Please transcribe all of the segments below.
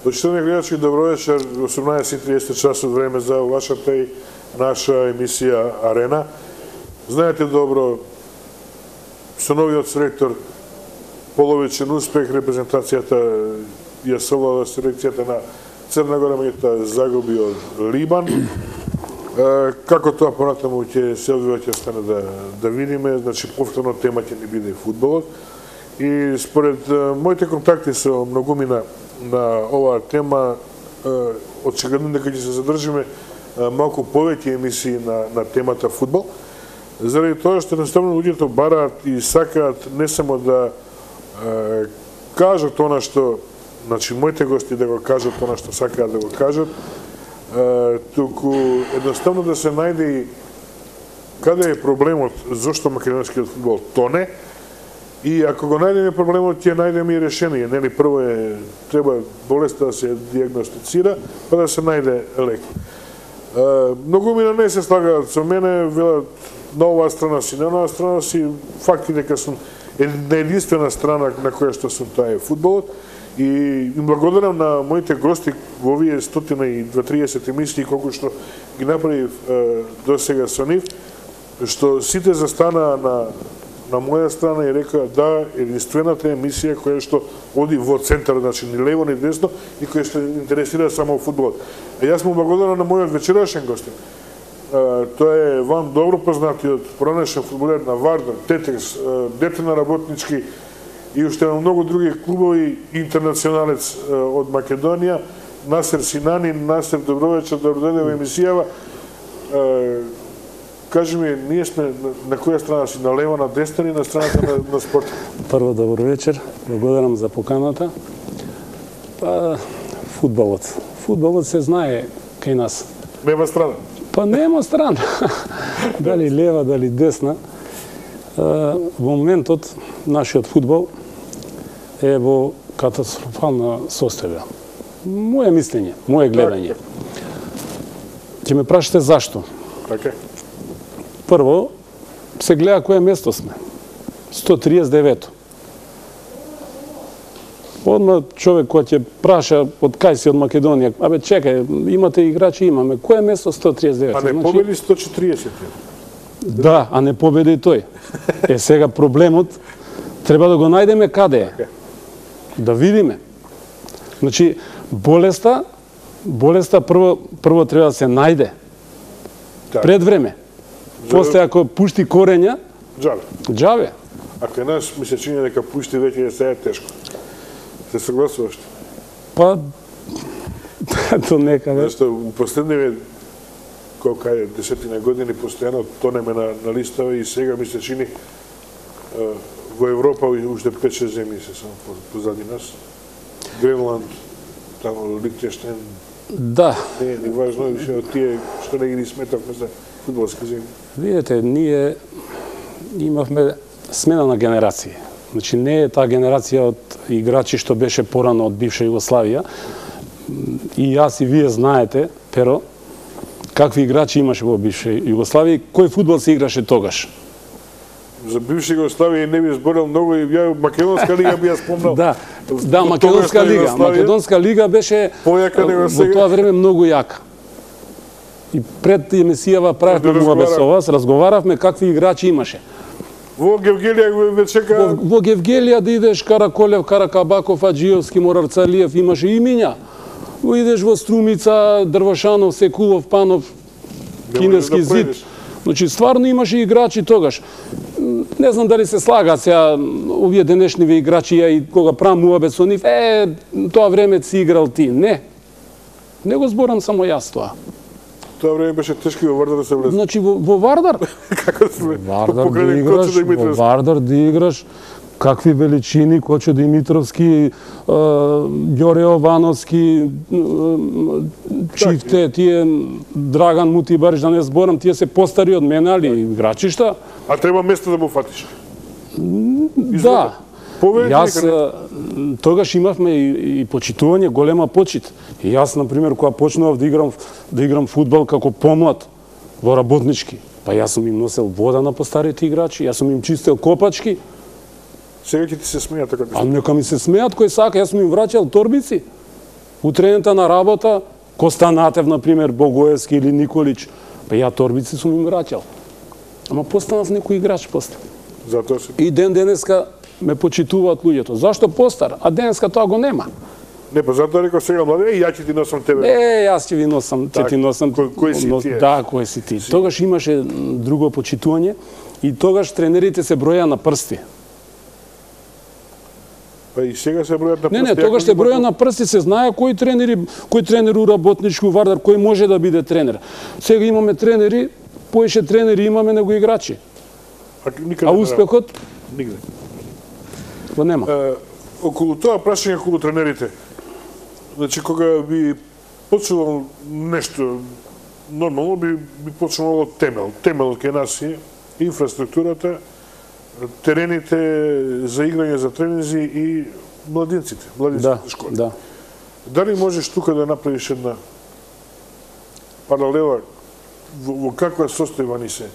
Почитувани гледачи, добро вечер. 18:30 часот време за вашата и наша емисија Арена. Знаете добро, со новиот селектор половичен успех, репрезентацијата ја совлада селекцијата на Црна Гора, меѓутоа загуби од Либан. Како тоа понатаму ќе се одвива, ќе стане да видиме, значи повторно тема ќе ни биде фудбалот. И според моите контакти со многумина на оваа тема, очигледно дека ќе се задржиме малку повеќе емисии на темата фудбал, заради тоа што едноставно луѓето бараат и сакаат не само да кажат она што, значи моите гости да го кажат она што сакаат да го кажат, туку едноставно да се најде и каде е проблемот, зошто македонскиот фудбал тоне, и ако го најдеме проблемот, ќе најдеме и решение. Нели, прво треба болеста да се диагностицира, па да се најде лек. Многумина не се слагаат со мене, велат на оваа страна си, на оваа страна си, факт дека сум на единствена страна на која што сум, тоа е фудбалот. И им благодарам на моите гости во овие 120-30 емисии, колку што ги направив до сега со нив, што сите застана на моја страна и река да, единствената емисија која што оди во центар, значи ни лево ни десно, и која што интересира само фудбалот. А јас му благодарам на мојот вечерашен гостин. Тоа е вам добро познатиот поранешен фудбалер на Вардар, Тетекс, дете на работнички и уште на многу други клубови, интернационалец од Македонија, Насер Синанин. Насер, добро вечер, добро дојде во емисијава. Кажи ми, ние сме на која страна си, на лево, на десна или на страната на спорт? Прво, добро вечер, благодарам за поканата. Фудбалот. Фудбалот се знае кај нас. Нема страна? Па нема страна. Дали лева, дали десна. Во моментот, нашиот фудбал е во катастрофална состојба. Моје мислење, моје гледање. Ќе ме прашате зашто? Така. Прво, се гледа кое место сме. 139-то. Одма човек кој ќе праша од кај си од Македонија, абе чекај, имате играчи, имаме. Кое место 139? А не победи 140? Да, а не победи тој. Сега проблемот треба да го најдеме каде е. Да видиме. Значи, болеста прво треба да се најде. Пред време. После ако пушти корења, џаве. А кај нас ми се чини дека пушти веќе се е тешко. Се согласуваш? Па, до некаде. Зашто у последниве колка е десетина години постојано тонеме на листава и сега ми се чини во Европа уште 5-6 земји се само позади нас. Гренланд, тамо Лихтенштейн. Да. Не е ни важно више од тие што не ги сметавме за фудбалски земји. Видете, ние имавме смена на генерации. Значи не е таа генерација од играчи што беше порано од бивша Југославија. И јас и вие знаете, Перо, какви играчи имаше во бивша Југославија и кој фудбал се играше тогаш. За бивша Југославија не би зборел многу и ја Македонска лига би ја спомнал. Да, Македонска лига. Македонска лига беше во тоа време многу јака. И пред емисијава правевме муабет со вас, разговаравме какви играчи имаше. Во Гевгелија ве чека... Во Гевгелија да идеш Караколев, Каракабаков, Аджиевски, Морарцалиев, имаше имиња. Идеш во Струмица, Дрвашанов, Секулов, Панов, Кинески зид. Значи, стварно имаше играчи тогаш. Не знам дали се слага сега овие денешниве играчи, и кога правам муабет со нив, тоа време си играл ти. Не. Не го зборам само јас тоа. Тоа време беше тешки во Вардар да се влезе. Значи, во Вардар? Како се Во Вардар да играш, какви величини, Кочо Димитровски, Ѓоре Овановски, Чифте, тие Драган Мутибариш, да не зборам, тие се постари од мене, али играчи шта? А треба место да му фатиш? Да. Јас тогаш имавме и почитување, голема почит. И јас, например, кога почнував да играм фудбал како помлад во работнички, па јас сум им носел вода на постарите играчи, јас сум им чистел копачки. Сега ќе ти се смеат така. А нека ми се смеат кој сака, јас сум им враќал торбици. Утрената на работа, Костанатев, например, Богоевски или Николич, па ја торбици сум им враќал. Ама постанав некој играч после. Затоа се... И денеска ме почитуваат луѓето. Зашто постар? А денеска тоа го нема. Не, па затоа реков сега млади, ја ќе ти носам тебе. Јас ќе ви носам, ќе ти носам. Кој си ти? Да, кој си ти. Тогаш имаше друго почитување и тогаш тренерите се броја на прсти. Па и сега се бројат на прсти. Не, тогаш се броја на прсти, се знае кој тренер у работнички, у Вардар, кој може да биде тренер. Сега имаме тренери, поише тренери имаме него играчи. А успехот? Нигде. Го нема. Околу тоа прашање околу тренерите. Значи, кога би почнало нешто нормално, би почнало од темел. Темел кај нас е инфраструктурата, терените за играње за тренинзи и младинците школи. Да. Дали можеш тука да направиш една паралела во каква состојба ни се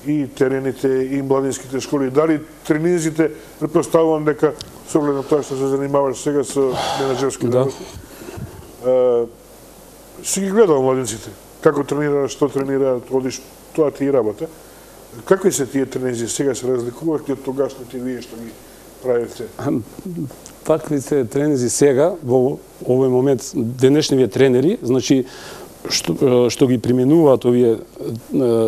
и терените и младинските школи? Дали тренинзите, предпоставувам дека со оглед на тоа што се занимаваш сега со менаџерски работи, си ги гледал младинците, како тренираат, што тренираат, одиш, тоа ти и работа. Какви се тие тренинзи сега, се разликувахте од тогашните вие што ги правите? Такви се тренинзи сега, во овој момент, денешнивие тренери, значи, што ги применуваат овие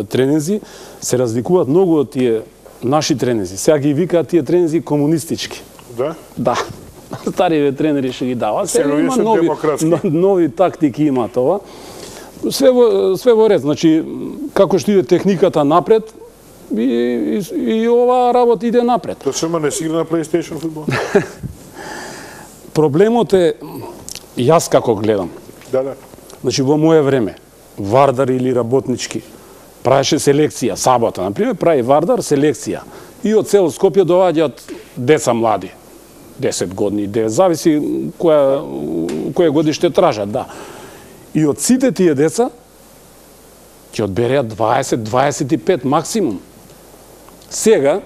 тренинзи, се разликуваат многу од тие наши тренинзи. Сега ги викаат тие тренинзи комунистички. Да? Да. Стариве тренери што ги даваат. Сега има нови тактики има тоа. Све во ред, значи, како што иде техниката напред, и оваа работа иде напред. Тоа шема не си игра на PlayStation фудбал? Проблемот е, јас како гледам. Да. Значи, во моје време, Вардар или работнички, правеше селекција, сабота, например, прави Вардар селекција. И од цел Скопје доаѓаат деца млади, 10 години, 9, зависи која годиште тражат, да. И од сите тие деца, ќе одбереат 20-25 максимум. Сега,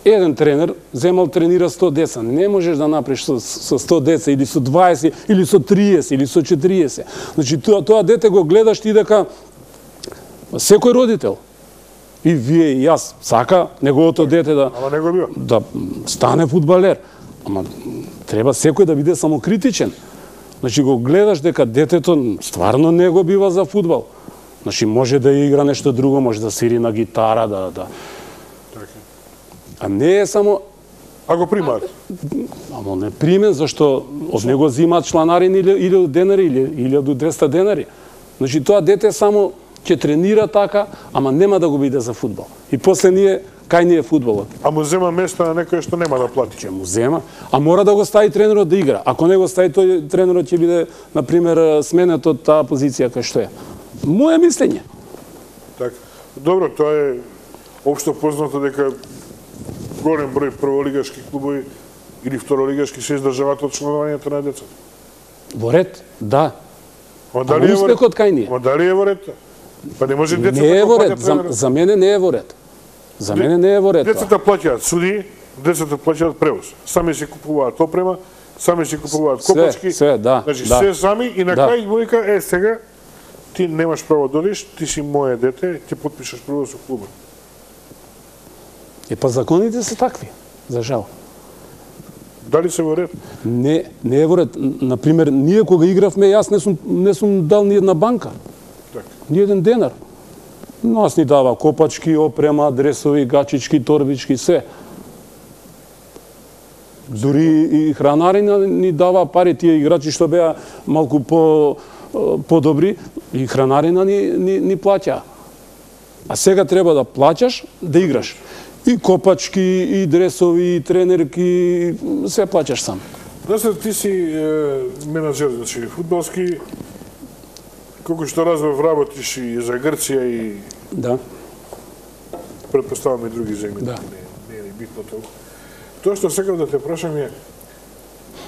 еден тренер земал тренира 100 деца. Не можеш да направиш со 100 деца, или со 20, или со 30, или со 40. Значи, тоа дете го гледаш ти дека секој родител, и вие и јас, сака неговото дете да стане фудбалер. Ама треба секој да биде самокритичен. Значи, го гледаш дека детето стварно не го бива за фудбал. Значи, може да игра нешто друго, може да свири на гитара, да... А не е само... А го примаат? Ама не примен, зашто од него зимаат чланарин или од денари, или од 200 денари. Значи, тоа дете само ќе тренира така, ама нема да го биде за фудбал. И после кај ни е фудбалот? А му зема место на некој што нема да плати? Ќе му зема, а мора да го стави тренерот да игра. Ако не го стави, тој тренерот ќе биде, например, сменет од таа позиција кај што е. Моје мислење. Така. Добро, тоа е општо познато дека голем број прволигашки клубови или второлигашки се издржаваат од членувањето на децата. Во ред, да. Ама дали успехот кај ни е? Ама дали е во ред? Па не може децата не е во ред. За мене не е во ред. За мене не е во ред. Децата плаќаат суди, децата плаќаат превоз. Сами си купуваат опрема, сами си купуваат копачки. Све, да. Значи, се сами и на крај му вика, сега ти немаш право да одиш, ти си моје дете, ти потпишаш прво со клубот. Па законите се такви, за жал. Дали се во ред? Не е во ред. Например, ние кога игравме, јас не сум дал ни една банка. Ни еден денар. Нас ни дава копачки, опрема, дресови, гачички, торбички, се. Дури и хранарина ни дава пари, тие играчи што беа малку подобри, и хранарина ни плаќа. А сега треба да плаќаш, да играш. И копачки, и дресови, и тренерки, се плаќаш сам. Значи, ти си менаџер, значи, фудбалски, колку што разбав, работиш и за Грција и... Да. Предпоставам и други земји, да. Не е битно толку. Тоа што сакам да те прашам е,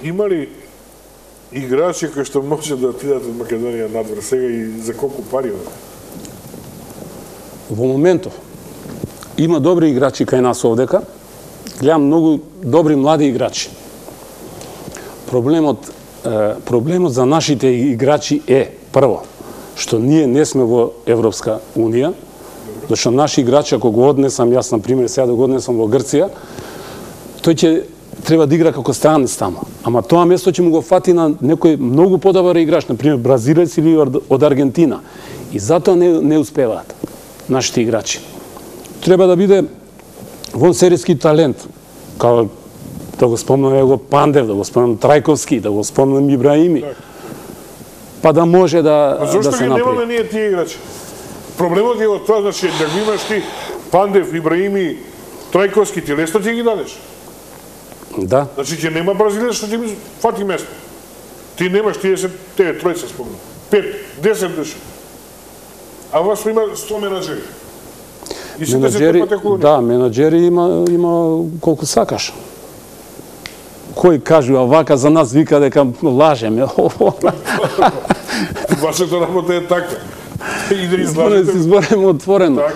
има ли играчи кои што може да отидат од Македонија надвор сега и за колку пари? Во моментов има добри играчи кај нас овдека, гледам многу добри млади играчи. проблемот за нашите играчи е, прво, што ние не сме во Европска Унија, зашто наши играчи, ако го однесам, јас, например, сега да го однесам во Грција, тој ќе треба да игра како странец таму. Ама тоа место ќе му го фати на некој многу подобар играч, например, бразилец или од Аргентина. И затоа не успеваат нашите играчи. Треба да биде вонсериски талент, као да го спомнам го Пандев, да го спомнам Трајковски, да го спомнам Ибраими, па да може да се направи. Зошто ги немаме ние тие играчи? Проблемот е од тоа, значи, да ги имаш ти Пандев, Ибраими, Трајковски, ти лесно ти ги дадеш. Да. Значи, ќе нема бразилец што ти ми фати место. Ти немаш, тие се, тебе тројца спомнам. 5, 10 души. А вас има 100 менаджери. И се да се трпате околу них. Да, менаджери има колку сакаш. Кој кажува вака за нас, вика дека лажеме. Вашата работа е таква. И да излажете. Да се збореме отворено. Така.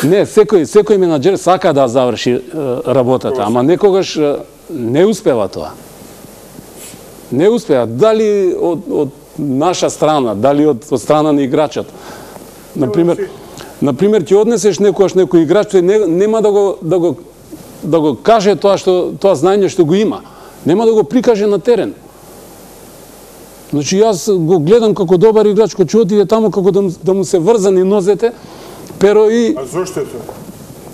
Не, секој менаџер сака да заврши работата, ама некогаш не успева тоа. Не успева. Дали од наша страна, дали од страна на играчот. Например, ќе однесеш некој играч, тој нема да го каже тоа знаење што го има. Нема да го прикаже на терен. Значи, јас го гледам како добар играч, кој ќе отиде таму како да му се врзани нозете, pero и... А зошто е тоа?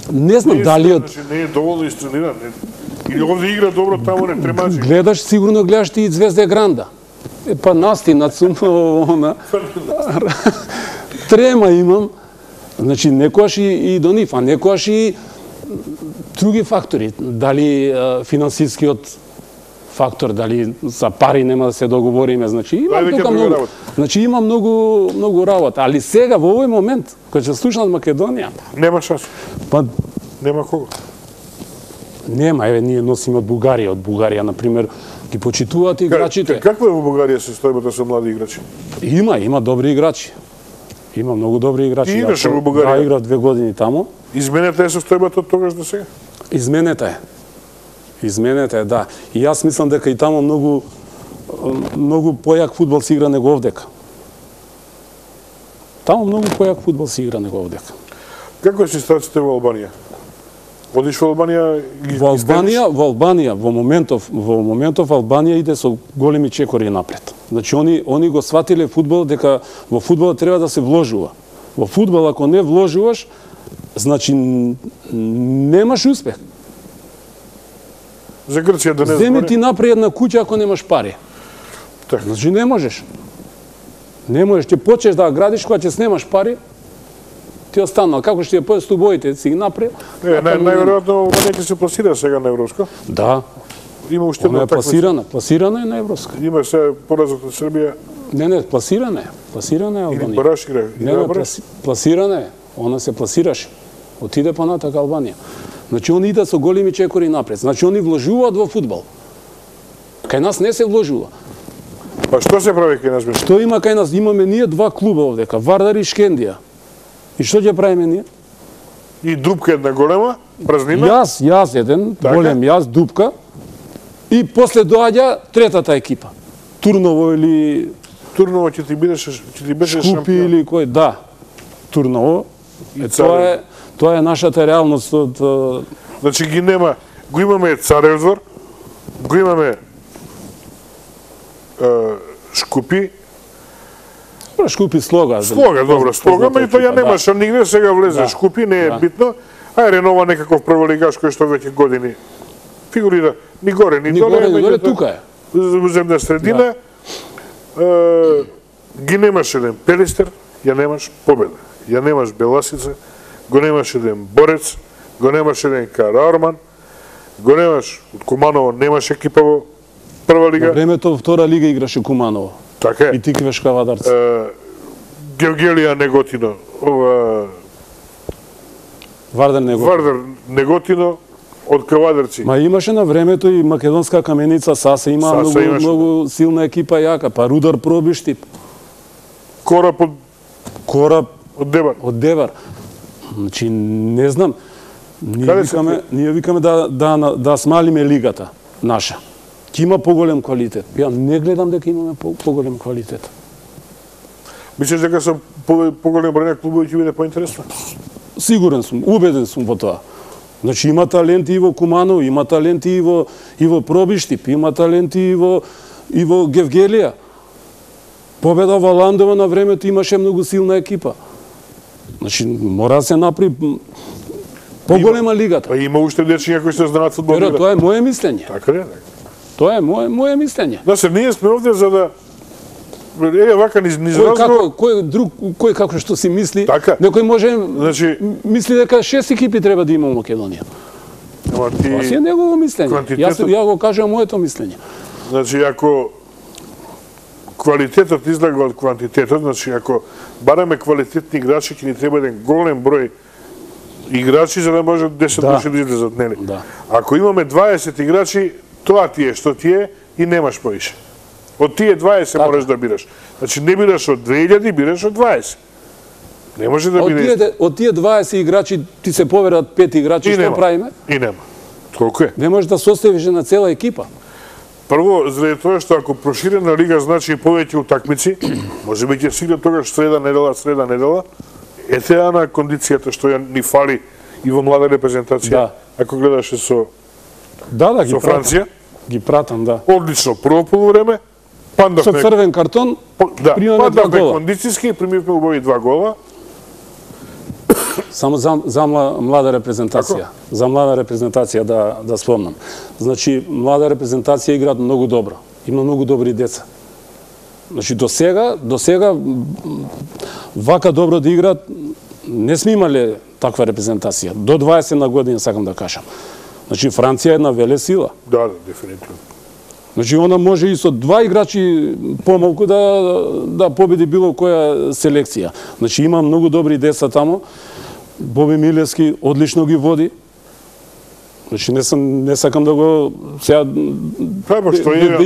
Не знам дали од... Значи, не е доволно истрениран. Или овде игра добро, таму не тремачи. Гледаш, сигурно гледаш ти и Звезда Гранда. Па настина сум, трема имам. Значи, некојаш и до нив, а некојаш и други фактори. Дали финансискиот фактор, дали за пари нема да се договориме, значи има многу работа, али сега во овој момент кога ќе слушнат Македонија, нема шанс. Па нема кого. Нема, еве ние носиме од Бугарија, например, ги почитуваат играчите. Каква е во Бугарија состојбата со млади играчи? Има добри играчи. Има многу добри играчи. Ти играше во Бугарија? Да, играв 2 години таму. Изменета е состојбата од тогаш до сега? Изменета е, да. И јас мислам дека и таму многу појак фудбал се игра него овдека. Таму многу појак фудбал се игра него овдека. Како е ситуацијата во Албанија? Одиш во Албанија? Во Албанија, во моментов Албанија иде со големи чекори напред. Значи, они го сватиле фудбал, дека во фудбал треба да се вложува. Во фудбал, ако не вложуваш, значи, немаш успех. За Грција да не збори? Земи ти направи една куќа ако немаш пари. Так. Значи, не можеш. Не можеш. Ќе почнеш да градиш, кога ќе снемаш пари, ти останал. Како ќе појдеш стубоите, си ги направи? Најверојатно Албанија ќе се пласира сега на Европска. Да. Има уште една такмица. Пласирана е на Европска. Има се поразот од Србија. Не, пласирана е. Пласирана е Албанија. Или бараш игра. Не, пласирана е. Она се пласираше. Отиде понатак Албанија. Значи, они идат со големи чекори напред. Значи, они вложуваат во фудбал. Кај нас не се вложува. Па што се прави кај нас? Што има кај нас? Имаме ние 2 клуба овдека, Вардар и Шкендија. И што ќе правиме ние? И дупка една голема, празнина? Јас еден, голем јас, дупка. И после доаѓа третата екипа. Турново или... Турново ќе ти беше шампион. Шкупи или кој, да. Турново. Тоа е нашата реалност од... Значи ги нема, го имаме Царев двор, го имаме Шкупи. Шкупи Слога. Добро, Слога, меѓутоа ја немаше нигде, сега влезе Шкупи, не е битно. А Ренова некаков прволигаш кој што веќе години фигурира ни горе, ни доле. Ни горе, тука е. Земна средина. Ги немаш еден Пелистер, ја немаш Победа. Ја немаш Беласица, го немаш еден Борец, го немаш еден Караорман, го немаш од Куманово, немаш екипа во прва лига. На времето во втора лига играше Куманово. Така е. И Тиквеш Кавадарц. Георгелија Неготино, Вардар Неготино од Кавадарци. Ма имаше на времето и македонска каменица Саса, има многу силна екипа јака, па Рудар Пробиштип. Кораб од Девар. Од Девар. Значи, не знам. Ние викаме да смалиме лигата наша. ќе има поголем квалитет. Ја не гледам дека имаме поголем квалитет. Мислиш дека со поголем број на клубови ќе биде поинтересно? Сигурен сум, убеден сум во тоа. Значи има таленти и во Куманово, има таленти и во Пробиштип, има таленти и во Гевгелија. Победа во Ландова на времето имаше многу силна екипа. Значи мора да се направи поголема лигата. Има уште дечиња кои се знаат фудбал. Тоа е моје мислење. Така е. Тоа е моје мислење. Значи ние сме овде за да вака низ разговор. Кој како што си мисли, така. Некој може мисли дека 6 екипи треба да има во Македонија. Тоа си е негово мислење. Ја го кажам моето мислење. Значи ако квалитетот излага од квантитетот, значи ако бараме квалитетни играчи, ќе ни треба еден голем број играчи за да може 10 души да излезат, нели? Да. Ако имаме 20 играчи, тоа ти е што ти е и немаш повише. Од тие 20 можеш да бираш. Значи не бираш од 2000, бираш од 20. Не може да биде. Од тие 20 играчи ти се поверат 5 играчи, што правиме? И нема. Толку е. Не можеш да составиш на цела екипа. Прво, заради тоа што ако проширена лига значи повеќе утакмици, можеби ќе се игра тогаш среда недела. Ете на кондицијата што ја ни фали и во млада репрезентација. Да. Ако гледаше со ги Франција. Ги пратам, да. Одлично прво полувреме. Со црвен картон, примаме 2 гола. Кондицијски, примивме убави 2 гола. Само за млада репрезентација. За млада репрезентација да спомнам. Значи, млада репрезентација играат многу добро. Има многу добри деца. Значи, до сега вака добро да играат, не сме имале таква репрезентација. До 20 на година, сакам да кажам. Значи, Франција е една велесила. Да, дефинитивно. Значи, она може и со 2 играчи помалку да победи било која селекција. Значи, има многу добри деца тамо. Боби Милевски одлично ги води. Значи, не сакам да го сега да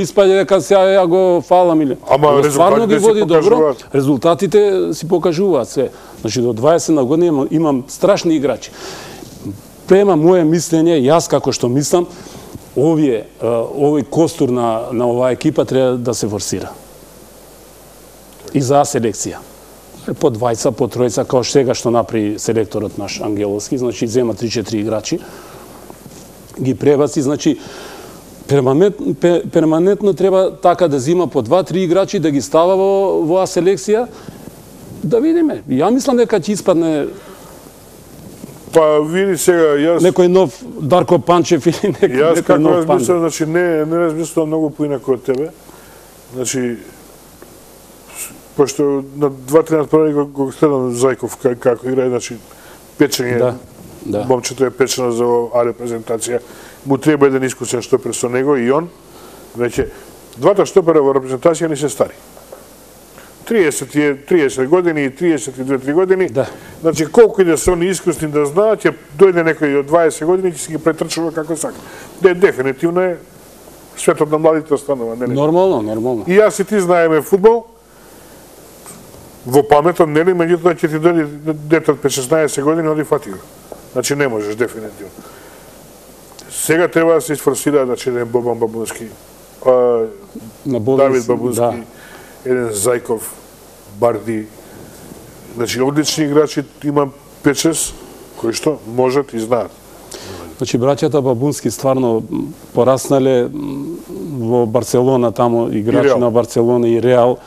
испаѓа дека сега ја го фалам или. Ама стварно ги води добро. Резултатите си покажуваат се. Значи, до 20 на година имам страшни играчи. Према моје мислење, јас како што мислам, овој костур на оваа екипа треба да се форсира. И за селекција. По двајца, по тројца, као сега што направи селекторот наш Ангеловски, значи зема 3-4 играчи, ги пребаци, значи перманентно треба така да зима по 2-3 играчи, да ги става во оваа селекција, да видиме. Ја мислам дека ќе испадне Па види сега, јас... Некој нов Дарко Панчев или некој нов Панчев. Јас како размислам, значи не размислам многу поинако од тебе. Значи, пошто на 2-3 натпрани го гледам Зајков како играе, значи печење. Да. Момчето е печено за оваа репрезентација. Му треба еден искусен штопер со него и он. Веќе, двата штопера во репрезентација не се стари. 30 години и 32-3 години. Да. Значи, колку и да се они искусни да знаат, ќе дојде некој од 20 години и ќе се ги претрчува како сака. Дефинитивно е светот на младите останува. Нормално. И јас и ти знаеме фудбал, во паметот, нели, меѓутоа ќе ти дојде дете од 5-16 години, оди фати го. Значи, не можеш, дефинитивно. Сега треба да се изфорсира, значи, еден Бобан Бабунски, Давид Бабунски, еден Зајков, Барди, значи одлични играчи, има 5-6 кои што можат и знаат. Значи браќата Бабунски стварно пораснале во Барселона, тамо играчи на Барселона и Реал.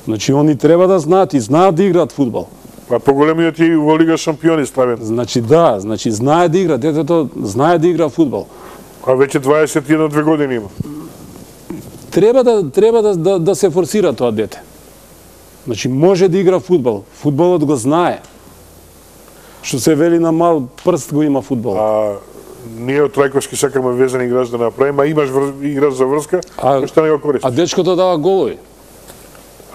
Значи они треба да знаат и знаат да играат фудбал. А поголемиот и во Лига шампиони Славен. Значи значи знае да игра, детето знае да игра фудбал. А веќе 21-2 години има. Треба да се форсира тоа дете. Значи, може да игра фудбал. Фудбалот го знае. Што се вели на мал прст го има фудбал. А ние од Трајковски сакаме везен играч да направиме, а имаш играч за врска, што не го користиш. А дечкото дава голови.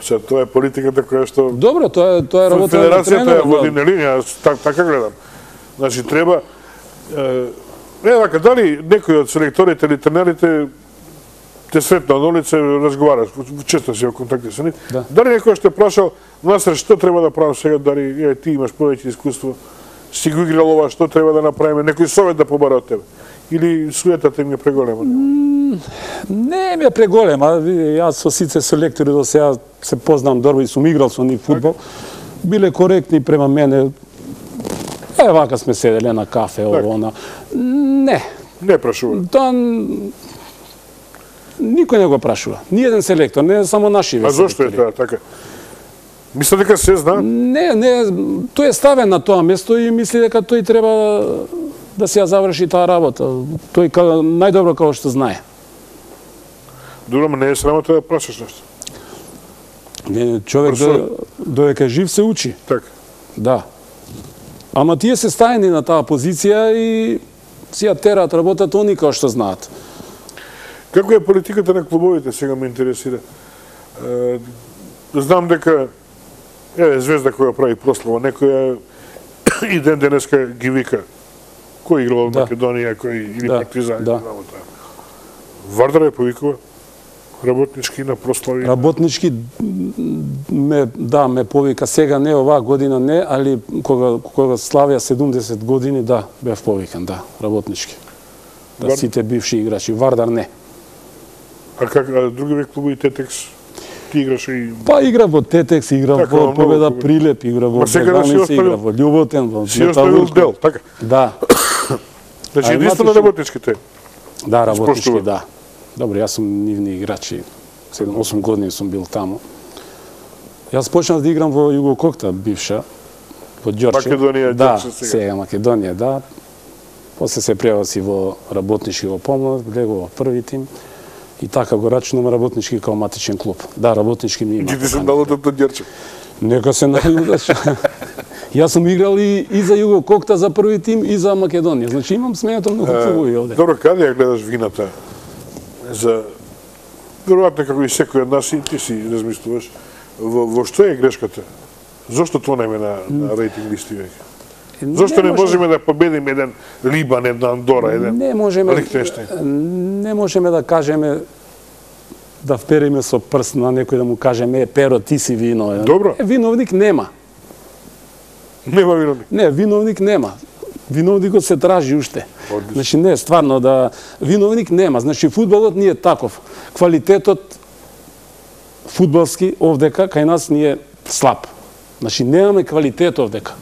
Се, тоа е политиката која што... Добро, тоа е работа на тренерот. Федерацијата е води, нели? Јас така гледам. Значи, треба... дали некој од селекторите или тренерите те сретна на улица, разговараш, често си во контакти со нив. Да. Дали некој што прашал, Насер, што треба да правам сега, дали ти имаш повеќе искуство, си го играл ова, што треба да направиме, некој совет да побара од тебе? Или суетата им е преголема? Не ми е преголем, а јас со сите селектори до сега се познам добро и сум играл со нив фудбал. Биле коректни према мене. Вака сме седеле на кафе, она. Не. Не прашува. Тоа никој не го прашува. Ни еден селектор, не само наши. А зошто е тоа така? Мисли дека се знае? Не, тој е ставен на тоа место и мисли дека тој треба да се ја заврши таа работа. Тој најдобро како што знае. Добро, не е срамота да прашаш нешто. Не, човек додека жив се учи. Така. Да. Ама тие се стаени на таа позиција и си ја терат работата они како што знаат. Како е политиката на клубовите, сега ме интересира. Знам дека Звезда која прави прослава, некоја и ден денеска ги вика кој играл во Македонија, кој или Партизан, Вардар е повикува работнички на прослави. Работнички ме повика сега, не оваа година не, али кога славија 70 години, бев повикан, работнички. Сите бивши играчи, Вардар не. А други век клубови Тетекс? Ти играш и... Па игра во Тетекс, игра во Победа Прилеп, игра во Бреганица, игра во Љуботен, во Металургија. Си оставил дел, така? Да. Значи, единствено работничките? Да, работнички, да. Добро, јас сум нивни играчи. 7-8 години сум бил таму. Јас почнав да играм во Југококта, бивша, во Ѓорче. Македонија, да, сега Македонија, да. После се преваси во работнички во помлад, влегов во први тим. И така го рачунам работнички као матичен клуб. Да, работнички ми има. Ги ти се налутат од Ѓорче? Нека се налутат. Јас сум играл и за Југококта за први тим и за Македонија. Значи имам сменето многу клубови овде. Добро, каде ја гледаш вината? Веројатно како и секој од нас и ти си размислуваш, во што е грешката? Зошто тонеме на рейтинг листи веќе? Зошто не можеме да победиме еден Либан, една Андора, еден Лихтенштейн? Не можеме да кажеме, да впериме со прст на некој да му кажеме, Перо, ти си виновен. Добро. Виновник нема. Нема виновник? Не, виновник нема. Виновникот се тражи уште. Значи, не, стварно, виновник нема. Значи, фудбалот ни е таков. Квалитетот фудбалски овдека, кај нас ни е слаб. Значи, немаме квалитет овдека.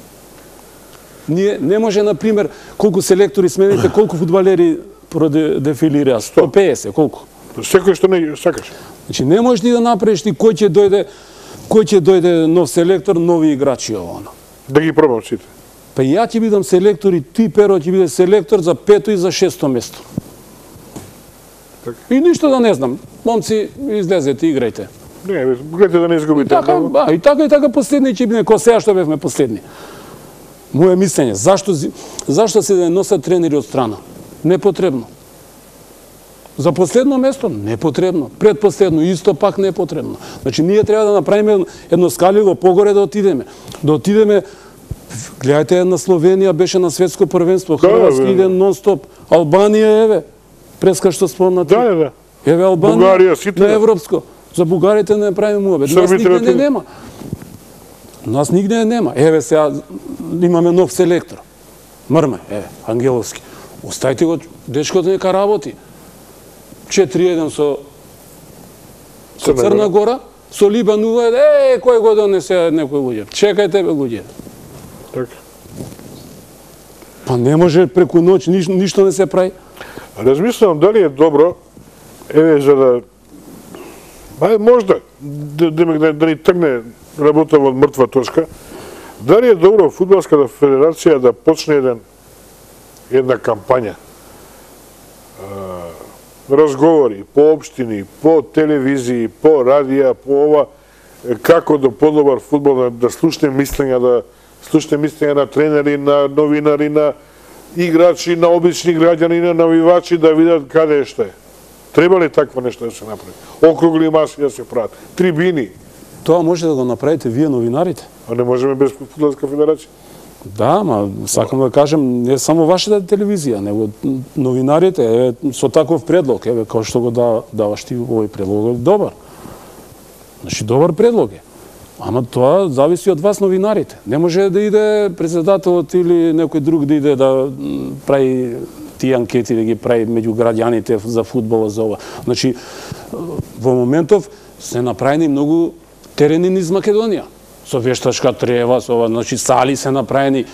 Ние не може, например, колку селектори смените, колку фудбалери продефилираа? 150, колку? Секој што не сакаш. Значи, не можеш ти да направиш ти кој ќе дојде нов селектор, нови играчи ово. Да ги пробам сите. Па ја ќе бидам селектор и ти, Перо, ќе биде селектор за 5-то и за 6-то место. И ништо да не знам. Момци, излезете, играјте. Не, гледате да не изгубите. И така последни ќе биде, кој сега што бевме последни. Моје мислење, зашто се да носат тренери од страна? Непотребно. За последно место? Непотребно. Предпоследно исто пак непотребно. Значи, ние треба да направиме едно скалило погоре да отидеме. Да отидеме, гледајте, на Словенија беше на светско првенство, Хрватски иде нон-стоп, Албанија, еве, преска што спомнати. Да. Еве Албанија, на европско. За бугарите не правиме муабет. Нас нигде не нема. Нас нигде нема. Еве сега имаме нов селектор. Мрме, еве, Ангеловски. Оставите го, дечкото нека работи. 4-1 со Црна Гора, со Либан 0-1, кој го донесе некој луѓе. Чекајте, бе, луѓе. Така. Па не може преку ноќ, ништо не се прави. Размислувам дали е добро, еве, за да... Можда, да ни тргне работа во мртва точка, дали е добро Фудбалската федерација да почне една кампања, разговори по општини, по телевизии, по радија, по ова, како да подобар фудбал, да слушне мислења на тренери, на новинари, на играчи, на обични граѓани, на навивачи, да видат каде е што е. Треба ли такво нешто да се направи? Округли маси да се прават, трибини. Тоа може да го направите вие новинарите. А не можеме без Фудбалска федерација? Да, ма сакам да кажем, не само вашата телевизија, него новинарите, со таков предлог, еве, како што го даваш ти овој предлог, добар. Значи, добар предлог е. Ама тоа зависи од вас новинарите. Не може да иде председателот или некој друг да иде да прави тие анкети да ги прави меѓу граѓаните за фудбал, за ова. Значи, во моментов се направени многу терени низ Македонија. Со вештачка трева, со ова, значи сали се направени.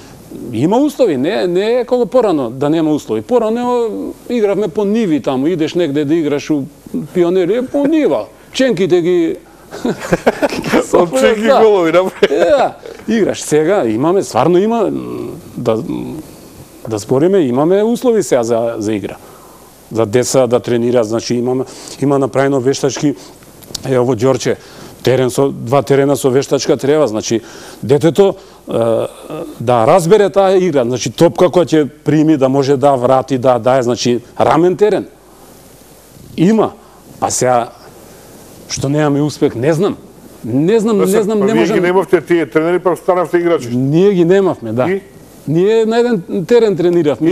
Има услови, не е како порано да нема услови. Порано игравме по ниви таму, идеш негде да играш у Пионери, по нива. Ченките ги Ченки голови, да, играш. Сега имаме, стварно има, да спориме, имаме услови сега за игра. За деца да тренира, значи има направено вештачки, во Ѓорче, два терена со вештачка трева, значи детето да разбере таа игра, значи топка која ќе прими, да може да врати, да дае, значи рамен терен. Има, па сега што немаме успех, не знам. Не можам. Вие ги немавте тие тренери, па станавте играчи. Ние ги немавме, да. Ние на еден терен трениравме.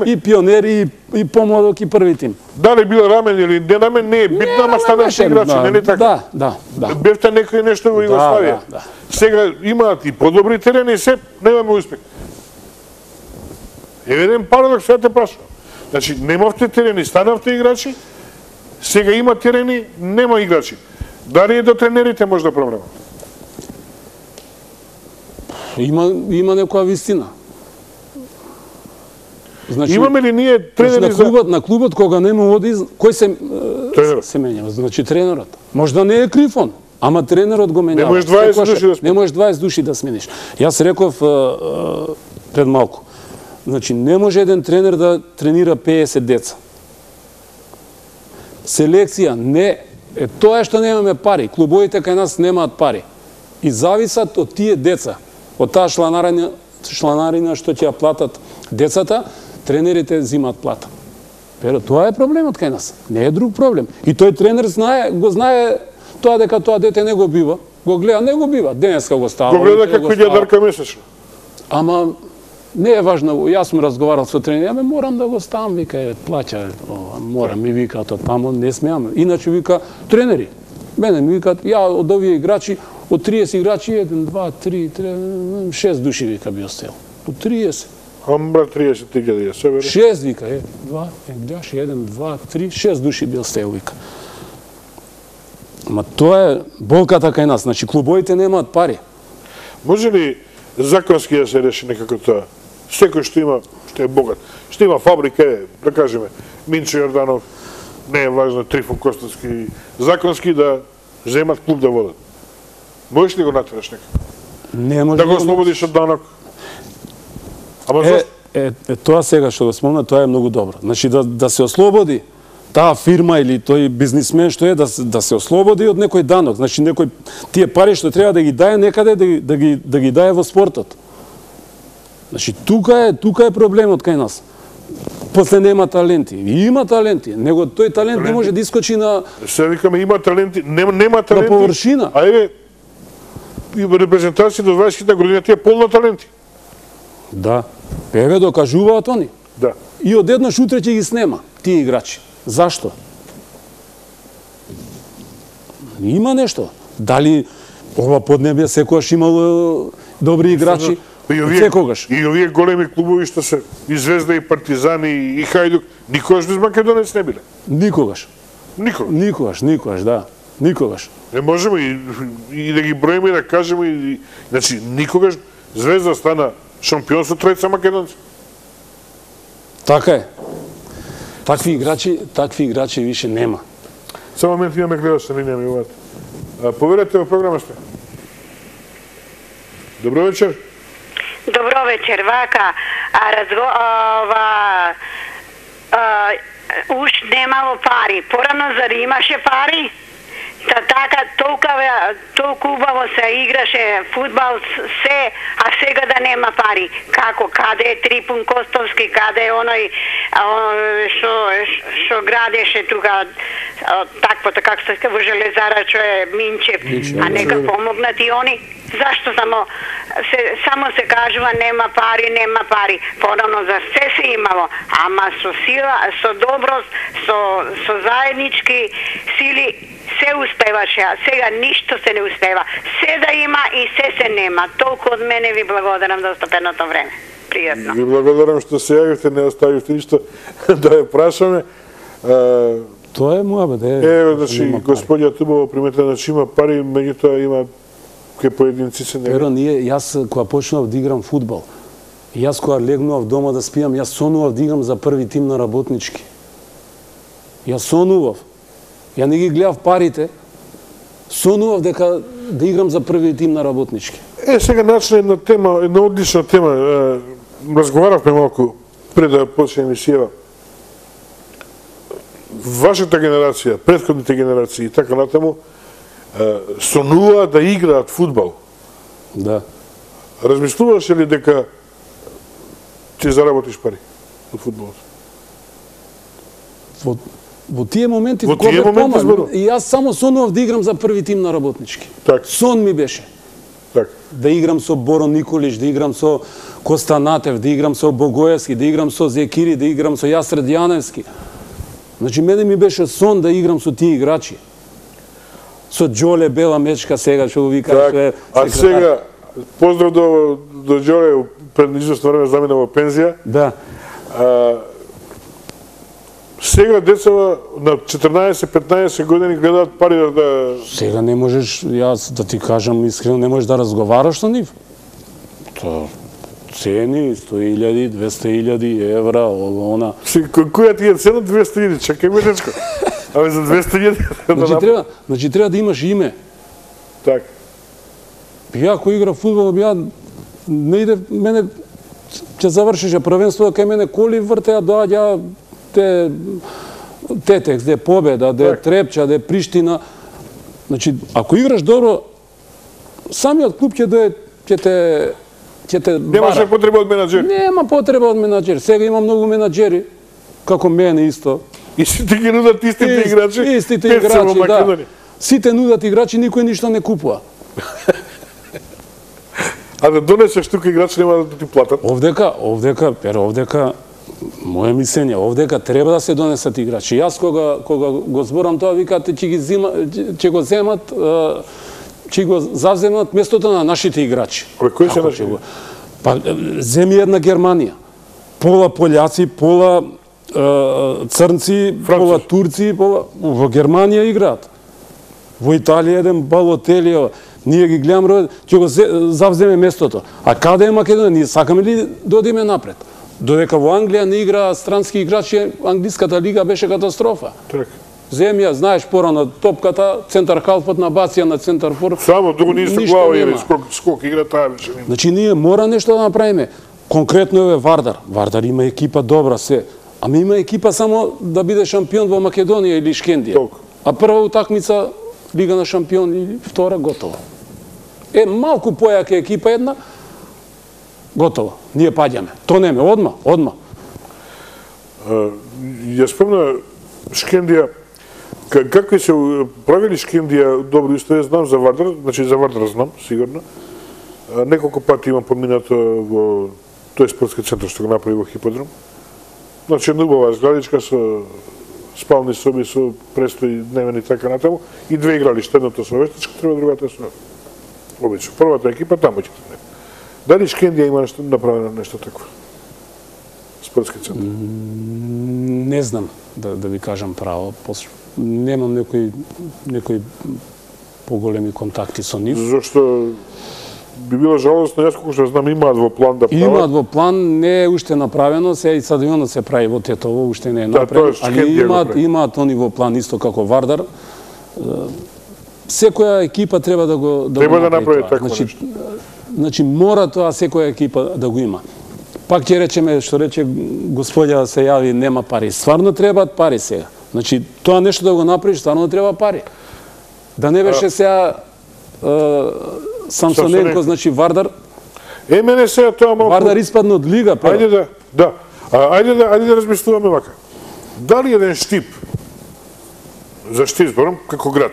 И Пионери, и помладок, и први тим. Дали бил рамен или не рамен, не е битно, ама станавте играчи, не ли така? Да. Бевте некој нешто во Југославија. Сега имаат и подобри терени, и се, немаме успех. Еве еден парадокс, сега те прашувам. Значи, немавте терени, станавте играчи, сега има терени, нема играчи. Дали е до тренерите може да проблема? Има некоја вистина. Значи, имаме ли ние тренери на клубот кога нема оди, кој се менјава? Значи тренерот. Може да не е крив он, ама тренерот го менјава. Не можеш 20 души да смениш. Не можеш 20 души да смениш. Јас реков пред малку. Значи не може еден тренер да тренира 50 деца. Селекција не е тоа што немаме пари. Клубовите кај нас немаат пари. И зависат од тие деца. Од таа чланарина што ќе ја платат децата, тренерите зимаат плата. Pero тоа е проблемот кај нас. Не е друг проблем. И тој тренер го знае тоа дека тоа дете не го бива. Го гледа, не го бива. Денеска го става. Го гледа како ќе дарка месечно. Ама не е важно. Јас сум разговарал со тренер, морам да го ставам, вика, плаќа, морам, ми вика, таму не смеам. Иначе вика тренери. Мене ми викаат, ја од овие играчи, од 30 играчи, 1, 2, 3, 6 души вика би остел. Од 30. Амбра 30.000 е, се вере. 6 вика, 2, 1, 2, 3, 6 души би остел вика. Ма тоа е болката кај нас, значи клубовите немаат пари. Може ли законски да се реши некако тоа? Секој што е богат, што има фабрика, да кажеме, Минчо Јорданов, не е важно, Трифон Костовски, законски да земат клуб да водат. Можеш ли го натераш некако? Не може да го ослободиш од данок? Ама зашто? Тоа сега што го спомна, тоа е многу добро. Значи да се ослободи таа фирма или тој бизнисмен што е да се ослободи од некој данок. Значи некој тие пари што треба да ги дае некаде да ги дае во спортот. Значи тука е проблемот кај нас. После нема таленти. Има таленти, него тој талент не може да искочи на... Се викаме има таленти, нема таленти. На површина. А еве, репрезентација до 20 година тие полно таленти. Да. Еве докажуваат они. Да. И одеднаш утре ќе ги снема тие играчи. Зашто? Има нешто. Дали ова поднебје секогаш имало добри играчи? Секогаш. И овие големи клубови што се и Звезда, и Партизани, и Хајдук, никогаш без македонец не биле. Никогаш. Никогаш, да. Никогаш. Не можеме и да ги броиме и да кажеме, значи никогаш Звезда стана шампион со тројца македонци. Така е. Такви играчи више нема. Само момент имаме гледач на линија ми уват. Поверете во програма сте. Добро вечер. Добро вечер, вака, уж немало пари. Порано зари имаше пари? Така, толку убаво се играше фудбал, се, а сега да нема пари. Како, каде е Трифон Костовски, каде е оној што градеше тука, таквото, како се во Железара, што е Минчев, а нека помогнат и они. Зашто само се кажува нема пари, порано за се имало, ама со сила, со доброст, со заеднички сили се успеваше, а сега ништо се не успева. Се да има и се нема. Толку од мене ви благодарам за остапеното време. пријатно. Ви благодарам што се јавивте, не оставивте ништо да ја прашаме. Тоа е муабет. Еве, значи, господја Тубово приметила, значи има пари, меѓутоа има кај поединци се Перо, јас кога почнав да играм фудбал, јас кога легнував дома да спијам, јас сонував да играм за први тим на работнички. Јас сонував. Ја не ги гледав парите, сонував дека да играм за први тим на работнички. Сега начна една тема, една одлична тема. Разговаравме малку пред да почне емисијава. Вашата генерација, претходните генерации и така натаму, сонува да играат фудбал. Да. Размислуваше ли дека ќе заработиш пари од фудбалот? Во тие моменти зборувам. И јас само сонував да играм за први тим на работнички. Так. Сон ми беше. Так. Да играм со Боро Николич, да играм со Коста Натев, да играм со Богоевски, да играм со Зекири, да играм со Јасред Јаневски. Значи, мене ми беше сон да играм со тие играчи. Со Џоле Бела Мечка сега, што го вика. Так. А сега, поздрав до Џоле, пред известно време замина во пензија. Да. Сега децава на 14-15 години гледаат пари да... Сега не можеш, јас да ти кажам искрено, не можеш да разговараш со нив. Тоа цени 100.000, 200.000 евра, она. Која ти е цена 200.000? Чакај ме, дечко. Абе за 200.000... Значи треба да имаш име. Так. Ја кој игра фудбал, не иде, мене ќе завршише првенство, кај мене коли вртеа, доаѓа Тетекс, де Победа, де Трепча, де Приштина. Значи, ако играш добро, самиот клуб ќе те Немаше потреба од менаџер. Нема потреба од менаџер. Сега има многу менаџери, како мене исто. И сите ги нудат истите играчи. Истите играчи, да. Сите нудат играчи, никој ништо не купува. А да донесеш тука играчи нема да ти платат? Овдека, моје мислење, овдека треба да се донесат играчи. Јас кога го зборам тоа, викате ќе го земат, ќе го завземат местото на нашите играчи. Кои се наши? Па земи една Германија. Пола пољаци, пола црнци, пола турци, во Германија играат. Во Италија еден Балотели, ние ги гледаме, ќе го завземе местото. А каде е Македонија? Ние сакаме ли да одиме напред? Додека во Англија не игра странски играчи, англиската лига беше катастрофа. Так. Земја, знаеш, порано топката, центар халфот на бација на центар фор. Само дуго не се глава или скок игра таа беше. Значи ние мора нешто да направиме. Конкретно е Вардар. Вардар има екипа добра се. Ама има екипа само да биде шампион во Македонија или Шкендија. Толку. А прва утакмица Лига на шампион или втора готово. Малку појака екипа една, готово. Ние паѓаме. Тонеме одма. Ја спомна Шкендија, какви се правили Шкендија добро историја, знам за Вардар, значи за Вардар знам, сигурно. Неколку пати имам поминато во тој спортски центар што го направи во Хиподром. Значи една убава зградичка со спални соби, со престои дневен и така натаму, и две игралишта, едното со вештачка, треба другата со обично. Првата екипа таму ќе тренира. Дали Шкендија има направено нешто такво? Спортски центар? Не знам да ви кажам право. Немам некои поголеми контакти со нив. Зошто би било жалостно, јас колку што знам, имаат во план да прават. Имаат во план, не е уште направено, сега и стадионот се прави во Тетово, уште не е направено, али имаат они во план исто како Вардар. Секоја екипа треба да го направи такво нешто. Значи мора тоа секоја екипа да го има. Пак ќе речеме, што рече господја се јави, нема пари. Стварно требаат пари сега. Значи тоа нешто да го направиш, стварно треба пари. Да не беше сега Самсоненко, значи Вардар. Мене сега тоа малку... Вардар испадна од лига, па. Ајде да размислуваме вака. Дали еден Штип, за Штип зборам, како град,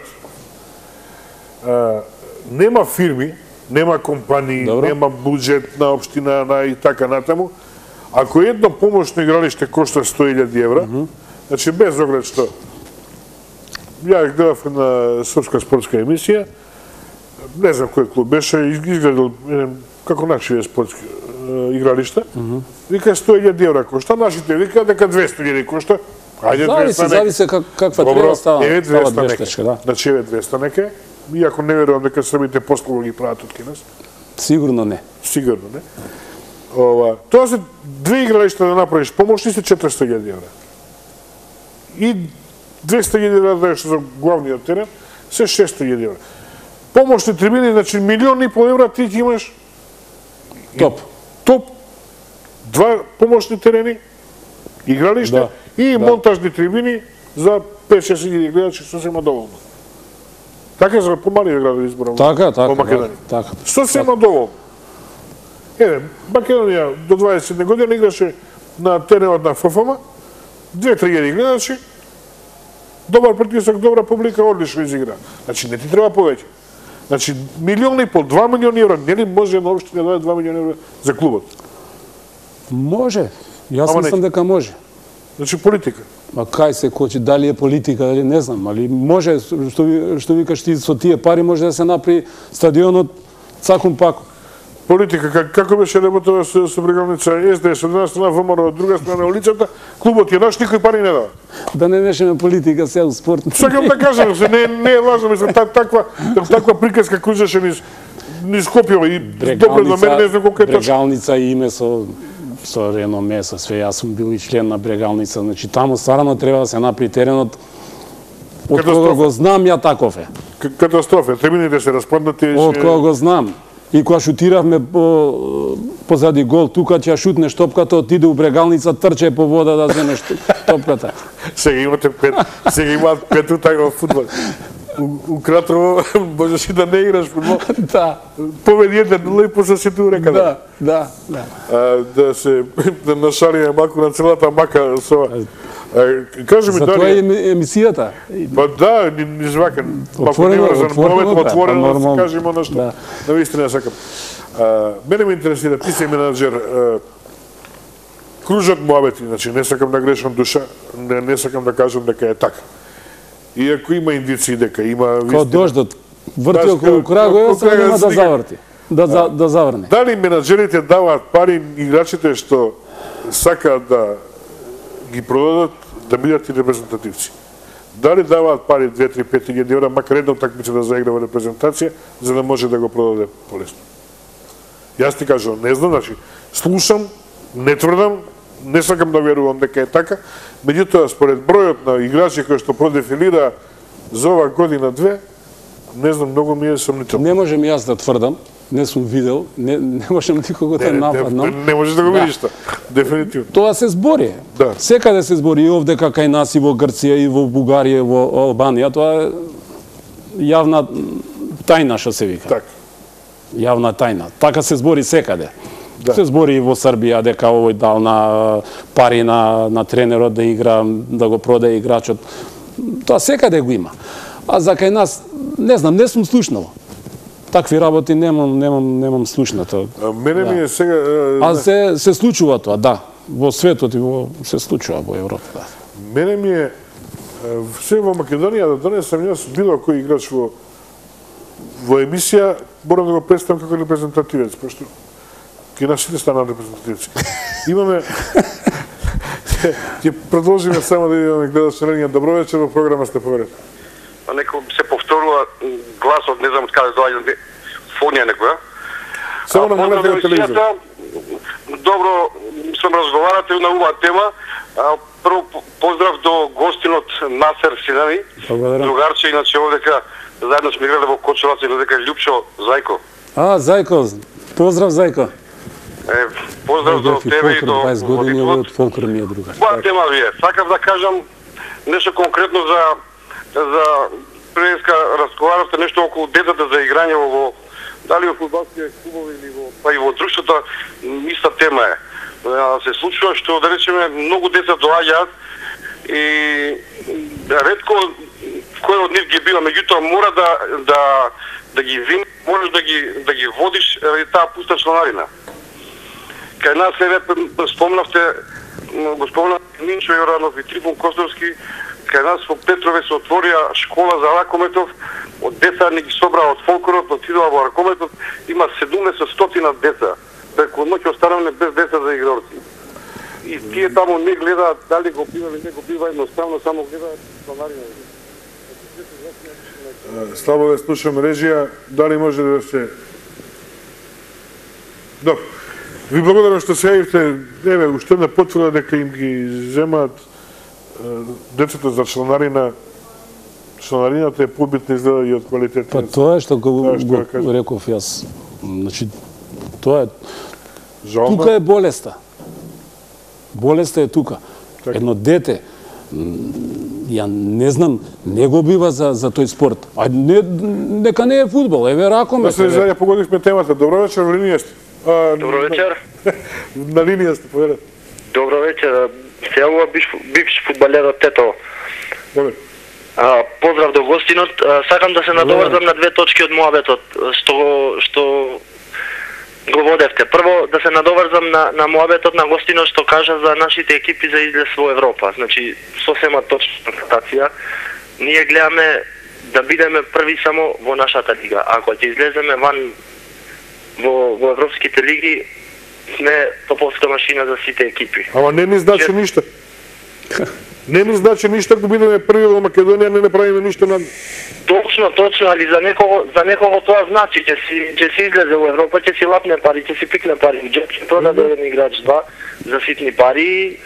нема фирми, нема компании, нема буџет на општина и така натаму, ако едно помошно игралиште кошта 100.000 евра, значи без оглед што ја гледав на српска спортска емисија, не знам кој клуб беше, изгледал како нашиот спортски игралиште, вика 100.000 евра кошта, нашите вика дека 200.000 кошта. Ајде 200 зависи каква треба става 200 да. Значи 200 нека. Иако не верувам дека србите послуги ги прават од Кинес. Сигурно не. Сигурно не. Тоа се две игралишта да направиш помошни се 400.000 евра. И 200.000 евра да даеш за главниот терен, се 600.000 евра. Помошни трибини, значи 1,5 евра ти ќе имаш топ, два помошни терени, игралиште и монтажни трибини за 5-6.000 гледачи сосема доволно. Така за помали градови изборам во Македонија. Сосема доволно. Македонија до 20 година играше на теренот на ФФМ, 2-3 гледачи, добар притисок, добра публика, одлично изигра. Значи не ти треба повеќе. Значи 1,5, 2 милиони евра, нели може на општина да даде 2 милиони евра за клубот? Може. Јас мислам дека може. Значи политика. Ма кај се кочи, дали е политика, дали не знам, али може, што викаш ти, со тие пари може да се направи стадионот цакум пако. Политика, како беше работава со Брегалница СДС, од една страна ВМРО, од друга страна улицата, клубот е наш, никој пари не дава. Да не мешаме политика сега у спорт. Сакам да кажам, не е важно, мислам, таква приказка кружеше низ Скопје и добро до мене не знам колку е точно. Брегалница и име со реноме, со све, јас сум бил и член на Брегалница, значи таму стварно треба да се направи теренот, од кога го знам ја таков е. Катастрофа, трибините се распаднати. Од кога го знам. И кога шутиравме позади гол, тука ќе шутнеш топката, отиде у Брегалница, трче по вода да земеш топката. Сега имате имаат пет утај во фудбал. У Кратрово можеш и да не играш фудбал. Да. Победи 1-0 и после се ту река. Да. Да нашалиме малку на целата мака со. Кажи ми дали. За тоа е емисијата. Па да, низ вака. Отворено, да кажеме она што навистина сакам. Мене ме интересира, ти си менаџер, кружат муабети, значи не сакам да грешам душа, не сакам да кажам дека е така. Иако има индици дека има вистина. Као дождот врти околу Крагујева, сега нема да заврти. Да заврне. Дали менаџерите даваат пари играчите што сакаат да ги продадат, да бидат и репрезентативци? Дали даваат пари 2-3-5 илјади евра, макар една утакмица да заигра во репрезентација, за да може да го продаде полесно? Јас ти кажам, не знам, значи, слушам, не тврдам, не сакам да верувам дека е така, меѓутоа според бројот на играчи кои што продефилира за ова година-две, не знам, многу ми е сомнително. Не можем јас да тврдам, не сум видел, не можем никого да нападнам. Не можеш да го видиш тоа, дефинитивно. Тоа се збори. Секаде се збори, и овде кај нас, и во Грција, и во Бугарија, и во Албанија, тоа е јавна тајна, што се вика. Така. Јавна тајна. Така се збори секаде. Се збори и во Србија дека овој дал на пари на тренерот да игра, да го продаде играчот. Тоа секаде го има. А за кај нас, не знам, не сум слушнал. Такви работи немам слушнато. Мене ми е сега... А се случува тоа, да. Во светот и се случува во Европа, да. Мене ми е... Се во Македонија да донесам јас било кој играч во емисија, морам да го представам како репрезентативец, пошто ке нашите станат репрезентативци. Имаме... Ќе продолжиме само да имаме гледачи на линија. Добро вечер, во програма сте поверете. Некој се повторува гласот, не знам од каде доаѓа, фонија некоја. Само намалете на телевизор. Добро сам разговарате на оваа тема. Прво поздрав до гостинот Насер Синани, другарче, иначе овдека заедно сме играле во Кочевац, и дека Љупчо Зајко. Зајко, поздрав Зајко. Поздрав до тебе и до 20 години од Фолклор ми е другар. Која тема ви е? Сакав да кажам нешто конкретно за предеска разговаравте нешто околу децата за играње во дали во фудбалски клубови или па и во друштвото, иста тема е. Се случува што да речеме многу деца доаѓаат и ретко кој од нив ги бива, меѓутоа мора да ги вини, можеш да ги водиш ради таа пуста членарина. Кај нас спомнавте, го спомнав Минчо Јоранов и Трифон Костовски, кај нас во Петрове се отворија школа за ракометов, од деца не ги собраа од фолклорот, отидоа во ракометов, има 700 деца преку ноќ останавме без деца за игралци. И тие таму не гледаат дали го бива или не го бива, едноставно само гледаат членарина. Слабо да слушам режија, дали може да се... Добро. Ви благодарам што се јавивте. Еве, уште една потврда дека им ги земаат децата за членарина. Членарината е побитна изгледа и од квалитетот. Па тоа е што го реков јас. Значи, тоа е... Тука е болеста. Болеста е тука. Едно дете, ја не знам, не го бива за тој спорт. А нека не е фудбал, еве ракомет. Да се зајде погодивме темата. Добро вечер, на линија сте. Добро вечер. На линија сте, поведете. Добро вечер. Се јавува бивш фудбалерот Тето. Добре. Поздрав до гостинот. Сакам да се надоврзам на две точки од муабетот што го водевте. Прво, да се надоврзам на муабетот на гостинот што кажа за нашите екипи за излез во Европа. Значи, сосема точна констатација. Ние гледаме да бидеме први само во нашата лига. Ако ќе излеземе ван во европските лиги, сме топовска машина за сите екипи. Ама не ми значи ништо. Не ми значи ништо ако бидеме први во Македонија, не направиме ништо на... Точно, али за некого тоа значи, ќе си излезе во Европа, ќе си лапне пари, ќе си пикне пари во джеб, ќе продаде еден играч два за ситни пари,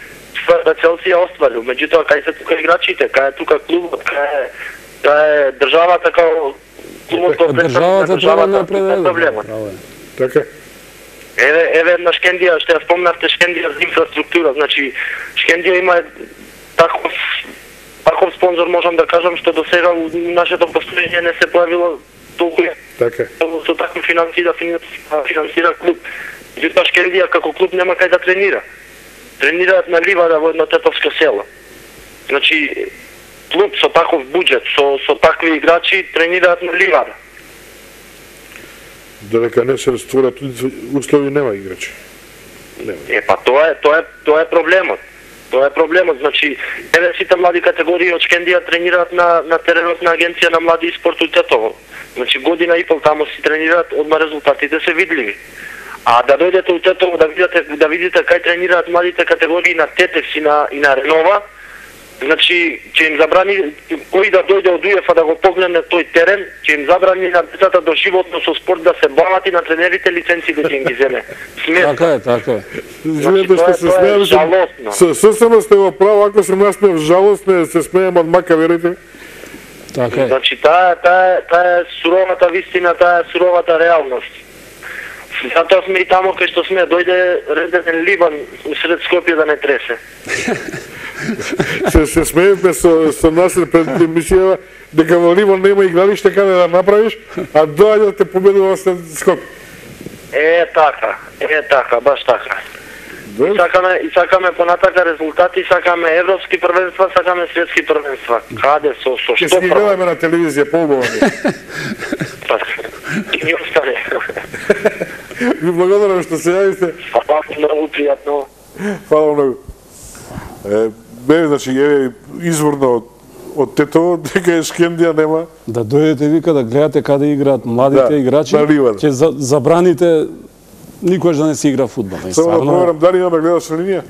тврда цел си ја остварил. Меѓутоа, кај се тука играчите, кај е тука клубот, кај е државата, као клубот го представува државата, тука е проблемот. Така. Еве една Шкендија, што ја спомнавте Шкендија за инфраструктура, значи Шкендија има таков спонзор, можам да кажам, што до сега нашето постоење не се појавило толку така. Со такви финансии да финансира клуб. Меѓутоа Шкендија како клуб нема кај да тренира. Тренираат на ливада во едно тетовско село. Значи клуб со таков буџет, со такви играчи тренираат на ливада. Додека не се створат услови, нема играчи. Па тоа е проблемот. Тоа е проблемот. Значи, еве сите млади категории од Шкендија тренираат на теренот на агенција на млади и спорт у Тетово. Значи, година и пол таму си тренираат, одма резултатите се видливи. А да дојдете у Тетово да видите кај тренираат младите категории на Тетевс и на Ренова, значи, ќе им забрани кој да дојде од УЕФА да го погледне тој терен, ќе им забрани на децата до животно со спорт да се бават и на тренерите лиценци да ќе им ги земе. Така е. Извинете што се смеам. Сосема сте во право, ако се насмеев жалостно, се смеем од мака, верите? Така е. Значи, таа е суровата вистина, таа е суровата реалност. Затоа сме и тамо кај што сме, дојде реден Либан сред Скопје да не тресе. се смеевме со Насер пред емисија дека во Ливан нема игралиште каде да направиш, а доаѓа да те победува со Скопје. Така, баш така. И сакаме понатака резултати, сакаме европски првенства, сакаме светски првенства. Каде со што? Ќе си гледаме на телевизија поубаво. И ни остане. Ви благодарам што се јавите. Многу пријатно. Фала многу. Значи, изворно од Тетово, дека е Шкендија нема. Да дојдете вика да гледате каде играат младите играчи, ќе забраните никош да не се игра фудбал. Само да проверам дали имаме гледаш на линија.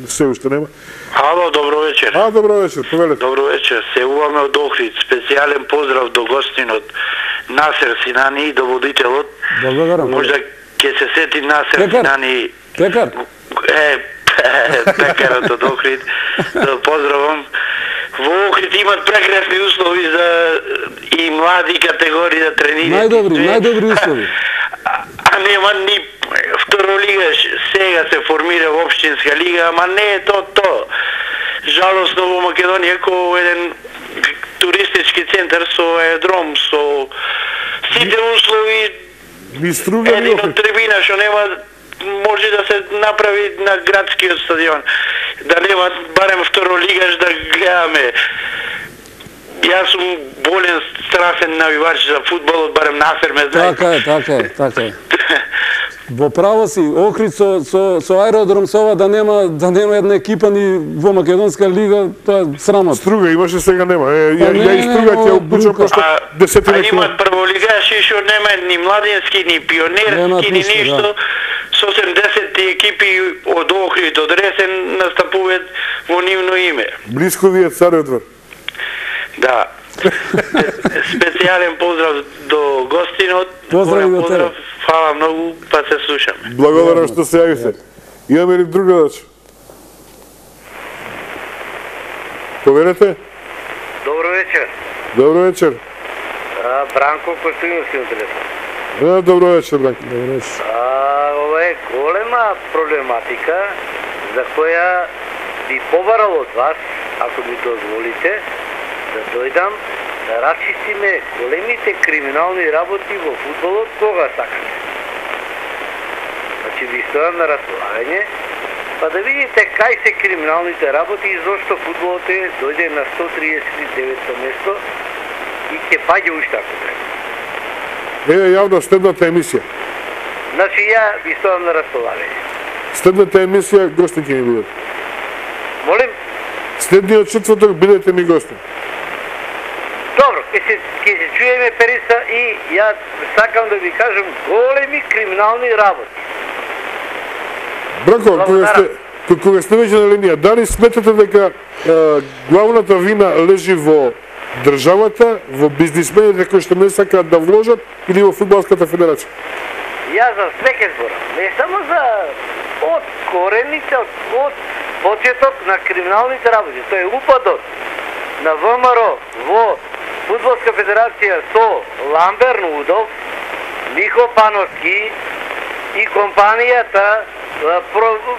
Се уште нема. Ало, добро вечер. Добро вечер, повелете. Добро вечер. Се уваме од Охрид. Специјален поздрав до гостинот Насер Синани, до водителот. Благодарам. Можда ќе се сети Насер Синани. Пекар. Пекарот од Охрид. Да поздравам. Во Охрид имат прекрасни услови за и млади категории да тренираат. Најдобри услови. А нема ни второлига, сега се формира општинска лига, ама не е то. Жалосно во Македонија како еден туристички центар со аеродром, со сите услови. Ни струга еден од трибина што нема може да се направи на градскиот стадион. Да нема барем второлигаш да гледаме. Јас сум болен страшен навивач за фудбалот, барем Насер ме знае. Така е. Во право си, Охрид со аеродром со ова да нема една екипа ни во Македонска лига, тоа е срамот. Струга имаше, сега нема. Ја и Струга ќе обучам пошто 10 имат кажеш што нема ни младински, ни пионерски, ни ништо. Со 70 екипи од Охрид, од Ресен настапуваат во нивно име. Блиско ви е Царев двор. Да. Специјален поздрав до гостинот. Поздрав. Фала многу, па се слушаме. Благодарам што се јавите. Имаме ли друг гледач? Поверете? Добро вечер. Добро вечер. Бранко Костојновски на телефон. Добро вечер, Бранко. Добро вечер. Ова е голема проблематика за која би побарал од вас, ако ми дозволите, да дојдам да расчистиме големите криминални работи во фудбалот кога сакате. Значи ви стојам на располагање, па да видите кај се криминалните работи и зошто фудбалот дојде на 139-то место и ќе паѓа уште ако треба. Еве јавно следната емисија. Значи ја ви стојам на располагање. Следната емисија гостин ќе ми бидат. Молим? Следниот четврток бидете ми гостин. Добро, ќе се чуеме Периса и ја сакам да ви кажам големи криминални работи. Бранко, кога сте веќе на линија, дали сметате дека главната вина лежи во државата, во бизнисмените кои што не сакаат да вложат или во фудбалската федерација? Ја за све ке зборам, не само за од корените, од почеток на криминалните работи. Тоа е упадот на ВМРО во Фудбалска федерација со Ламбер Нудов, Михо Пановски и компанијата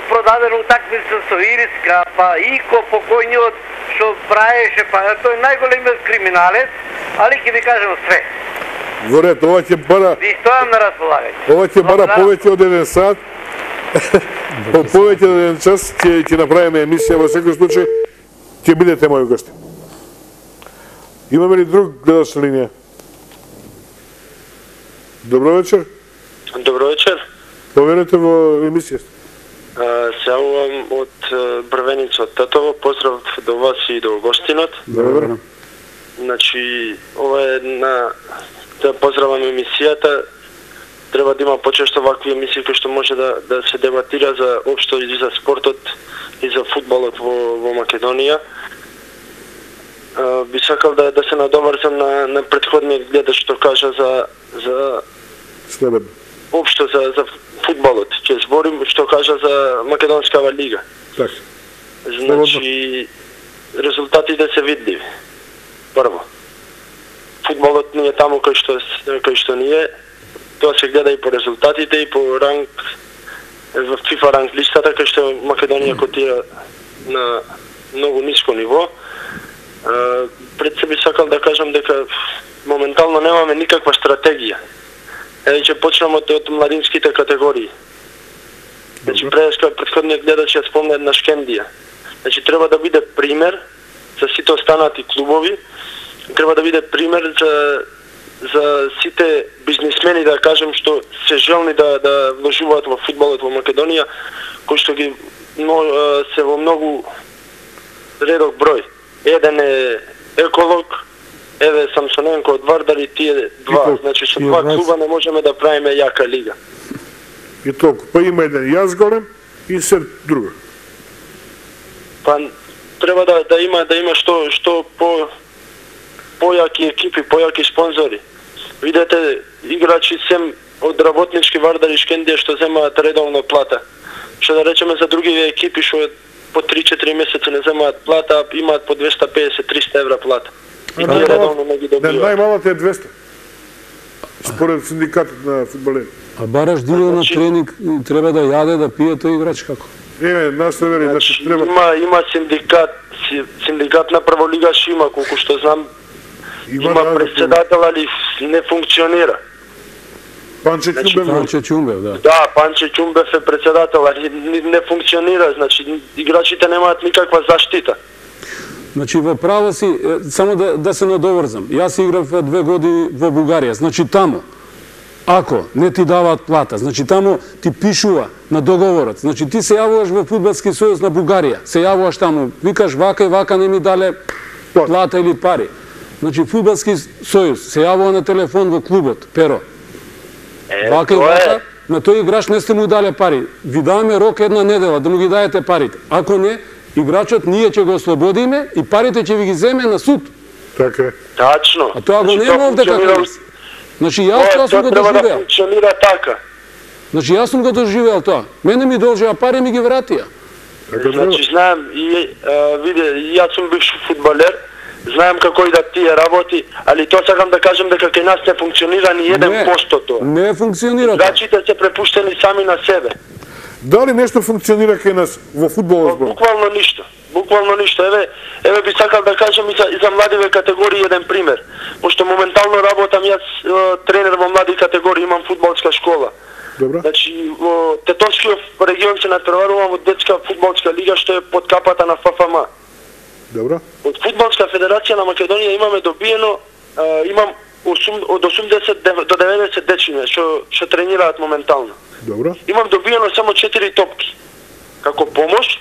продадена утакмица со Ириска, па Ико покојниот што правеше, па тој најголемиот криминалец, али ќе ви кажам све. Во ред, ова ќе бара... Ви стојам на располагање. Ова ќе бара повеќе од 1 сат. Повеќе од 1 час ќе направиме емисија, во секој случај ќе бидете мои гости. Имаме ли друг гледач на линија? Добро вечер. Добро вечер. Поверете во емисија. Се јавувам од Брвеница од Тетово. Поздрав до вас и до гостинот. Добро. Значи, ова е една... Да поздравам емисијата. Треба да има почесто вакви емисии кои што може да се дебатира за општо и за спортот и за фудбалот во Македонија. Би сакал да се надоврзам на претходниот гледач што кажа за Следем. општо за фудбалот. Ќе зборим што кажа за Македонскава лига. Така. Значи, резултатите се видливи. Прво, фудбалот не е таму кој што не е. Тоа се гледа и по резултатите и по ранг во FIFA ранг листата кај што Македонија котира на многу ниско ниво. Пред се би сакал да кажам дека моментално немаме никаква стратегија. Еве ќе почнеме од младинските категории. Значи претходниот гледач ја спомна една Шкендија. Значи треба да биде пример за сите останати клубови, треба да биде пример за сите бизнисмени, да кажем, што се желни да вложуваат во фудбалот во Македонија, кои што ги се во многу редок број. Еден е еколог, еве Самсоненко од Вардар и тие два. Значи со два клуба не можеме да правиме јака лига. И толку. Па има еден јас голем и се друга. Па треба да има што појаки екипи, појаки спонзори. Видете играчи сем од работнички Вардар и Шкендија што земаат редовно плата. Што да речеме за други екипи што по 3-4 месеци не земаат плата, а имаат по 250-300 евра плата. И тие редовно не ги добиваат. Најмалата е 200. Според синдикатот на фудбалери. А бараш диле на тренинг треба да јаде, да пие тој играч како? Нас не вери, значи треба... Има синдикат на прволигаш има, колку што знам, има председател, али не функционира. Панче Ќумбев. Панче Ќумбев, да. Да, Панче Ќумбев е председател, али не функционира, значи играчите немаат никаква заштита. Значи во право си, само да се надоврзам. Јас играв 2 години во Бугарија, значи таму ако не ти даваат плата, значи таму ти пишува на договорот, значи ти се јавуваш во Фудбалски сојуз на Бугарија, се јавуваш таму, викаш вака и вака не ми дале плата или пари. Значи, фудбалски сојуз се јавува на телефон во клубот, Перо. Вака и вака, на тој играч не сте му дале пари. Ви даваме рок една недела да му ги даете парите. Ако не, играчот ние ќе го ослободиме и парите ќе ви ги земе на суд. Така е. Тачно. А тоа го нема овде како. Значи јас тоа сум го Треба да доживеал. функционира така. Значи јас сум го доживеал тоа. Мене ми должеа пари ми ги вратија. Значи знаем и виде, јас сум бивш фудбалер, знаем како и да тие работи, али тоа сакам да кажам дека кај нас не функционира ни 1% тоа. Не функционира тоа. Играчите се препуштени сами на себе. Дали нешто функционира кај нас во фудбалот збор? Буквално ништо. Буквално ништо. Еве би сакал да кажам и за младиве категории еден пример. Пошто моментално работам јас тренер во млади категории, имам фудбалска школа. Добро. Значи, во Тетонскиот регион се натпреварувам во детска фудбалска лига што е под капата на ФФМ. Добро. Од Фудбалска федерација на Македонија имаме добиено, имам од 80 до 90 дечиња што тренираат моментално. Добро. Имам добиено само 4 топки како помош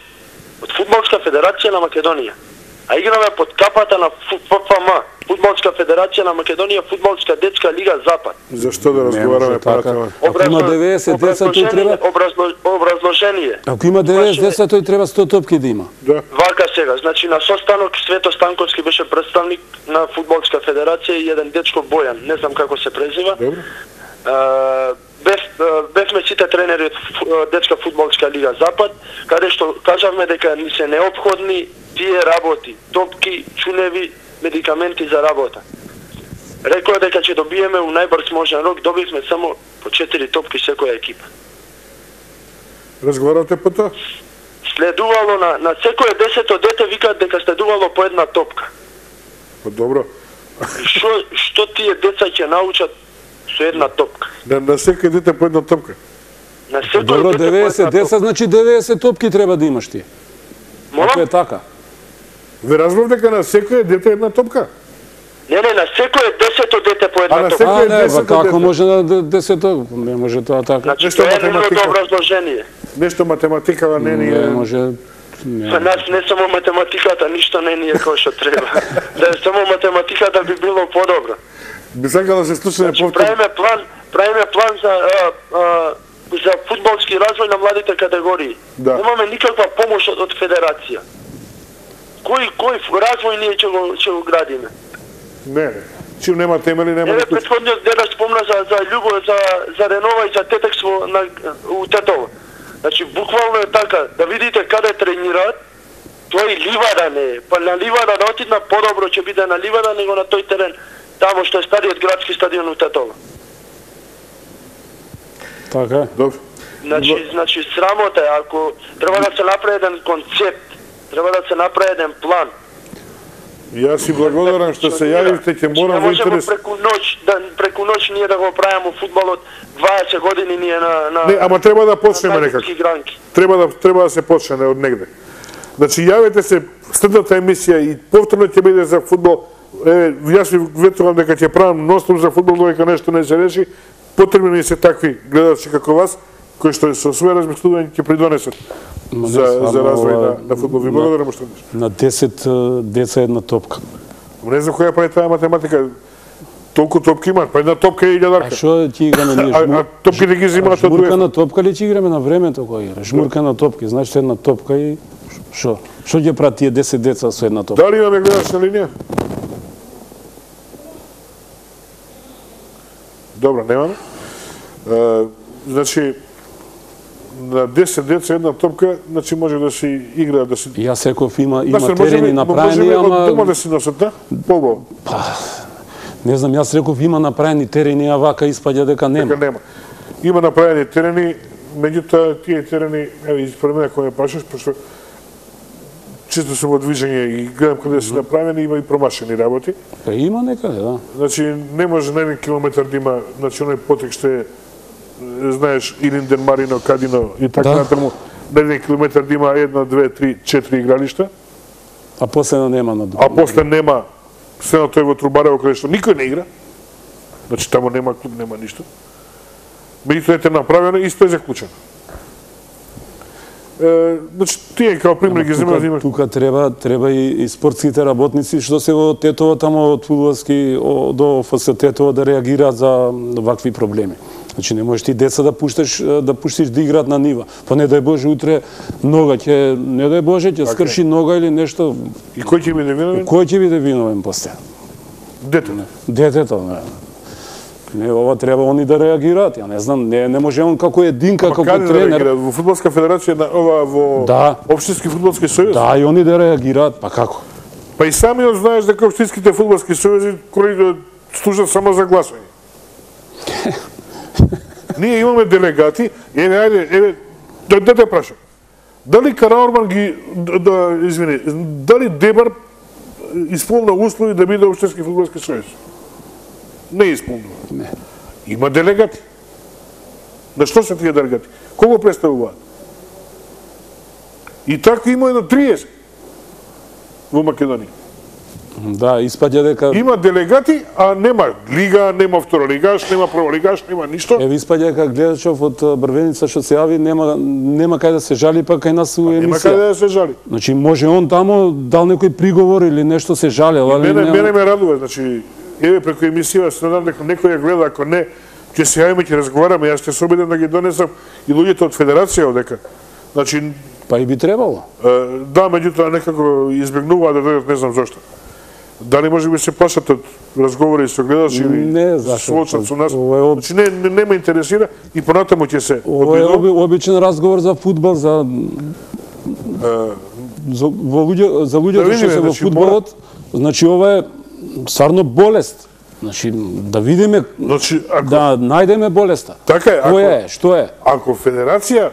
од Фудбалска федерација на Македонија. А играме под капата на ФФМ, Фудбалска федерација на Македонија, Фудбалска детска лига Запад. Зашто да разговараме по тоа? Ако има 90 деца, тој треба... Образложение. Ако има 90 деца, тој треба 100 топки да има. Да. Вака сега, значи на состанок Свето Станковски беше представник на Фудбалска федерација и еден дечко Бојан, не знам како се презива. Добро. Бевме сите тренери од детска фудбалска лига Запад, каде што кажавме дека ни се неопходни тие работи, топки, чуневи, медикаменти за работа. Рекоа дека ќе добиеме у најбрз можен рок, добивме само по 4 топки секоја екипа. Разговаравте по тоа? Следувало на секое 10-то дете викаат дека следувало по една топка. Па добро. Што тие деца ќе научат со една топка? На секој дете по една топка. На секој Добро, дете по 90 една деца, значи 90 топки треба да имаш ти. Ако е така. Ве разбрав дека на секој дете една топка? Не, на секое 10-то дете по А една на топка. секој Не, десето како дете. може на 10 не може тоа така. Значи, Нешто тоа е математика. нивното образложение. Нешто математикава не ни Не е... може. За нас не само математиката, ништо не ни е како што треба. Да е само математиката би било подобро. Би сакал да се слушне повторно. Правиме план за фудбалски развој на младите категории. Да. Немаме никаква помош од федерација. Кој развој ние ќе го градиме? Не. Чим нема темели, нема Еве никој. претходниот дедо спомна за Љубо, за Ренова и за Тетекс у Тетово. Значи буквално е така, да видите каде тренираат, тоа и ливада не е. Па на ливада да отидна подобро ќе биде на ливада него на тој терен, тамо што е стариот градски стадион у Тетово. Така. Добро. Значи срамота е, ако треба да се направи еден концепт, треба да се направи еден план. Јас си благодарам што се јавивте, ќе морам во интерес... преку ноќ ние да го правиме фудбалот 20 години ние на Не, ама треба да почнеме некако. гранки. Треба да се почне од негде. Значи јавете се следната емисија и повторно ќе биде за фудбал. Јас ви ветувам дека ќе правам ностом за фудбал додека нешто не се реши. Потребни се такви гледачи како вас кои што со своје размислување ќе придонесат за развој на фудбал. Ви благодарам што днес. На 10 деца една топка. Не знам која прави таа математика. Толку топки имаат, па една топка е 1000. А што ќе играме ние? А топките ги земаат од Жмурка дуе. на топка ли ќе играме на времето кој игра? Жмурка на топки, значи една топка и што? Што ќе прават тие 10 деца со една топка? Дали имаме гледач на линија? Добро, немаме. Значи, на 10 деца една топка, значи може да се игра, да се... Јас секов има Басер, терени направени, можеме од ама... дома да си носат, да? Побаво. Не знам, јас реков има направени терени, а вака испаѓа дека нема. Дека нема. Има направени терени, меѓутоа тие терени, еве, испред мене кој ме прашаш, пошто често сум во движење и гледам каде се направени, има и промашени работи. Па има некаде, да. Значи, не може на 1 километар да има, значи, оној потек што е, знаеш, Илинден, Марино, Кадино и така натаму, на 1 километар да има 1, 2, 3, 4 игралишта, А после нема на друго. а после нема, следното е во Трубарево, каде што никој не игра, значи, тамо нема клуб, нема ништо. Меѓутоа е направено, исто е заклучено. Значи, тие као пример ги земат. Тука треба и спортските работници што се во Тетово, тамо од фудбалски до ФС Тетово да реагираат за вакви проблеми. Значи не можеш ти деца да пуштиш да играат на нива. Па не дај Боже утре нога ќе не дај Боже ќе скрши нога или нешто. И кој ќе биде виновен? Кој ќе биде виновен после? Детето. Детето, не. Не, ова треба они да реагираат. Ја не знам, не може он како единка, како тренер. Да во фудбалска федерација, ова во општински фудбалски сојуз? Да, и они да реагираат, па како? Па и самиот знаеш дека општинските фудбалски сојузи служат само за гласање. Ние имаме делегати, еве, да те прашам. Дали Караорман дали Дебар исполна услови да биде општински фудбалски сојуз? Не исполнува. Не. Има делегати. На што се тие делегати? Кого представуваат? И така има едно 30 во Македонија. Да, испаѓа дека има делегати, а нема лига, нема второлигаш, нема прволигаш, нема ништо. Еве испаѓа дека гледачов од Брвеница што се јави нема кај да се жали, па кај нас у емисија. Нема кај да се жали. Значи може он тамо дал некој приговор или нешто се жалел, али мене ме радува, значи еве преку емисија се надам дека некој ја гледа, ако не ќе се јавиме, ќе разговараме, јас ќе се обидам да ги донесам и луѓето од федерација одека. Значи па и би требало. Да, меѓутоа некако избегнуваат да дојдат, не знам зошто. Дали може би се плашат од разговори со гледачи или соочат со нас? Значи не ме интересира и понатаму ќе се. Ова е обичен разговор за фудбал, за луѓето што се во фудбалот. Значи ова е стварно болест. Значи да видиме, да најдеме болеста. Така е. Која е, што е? Ако федерација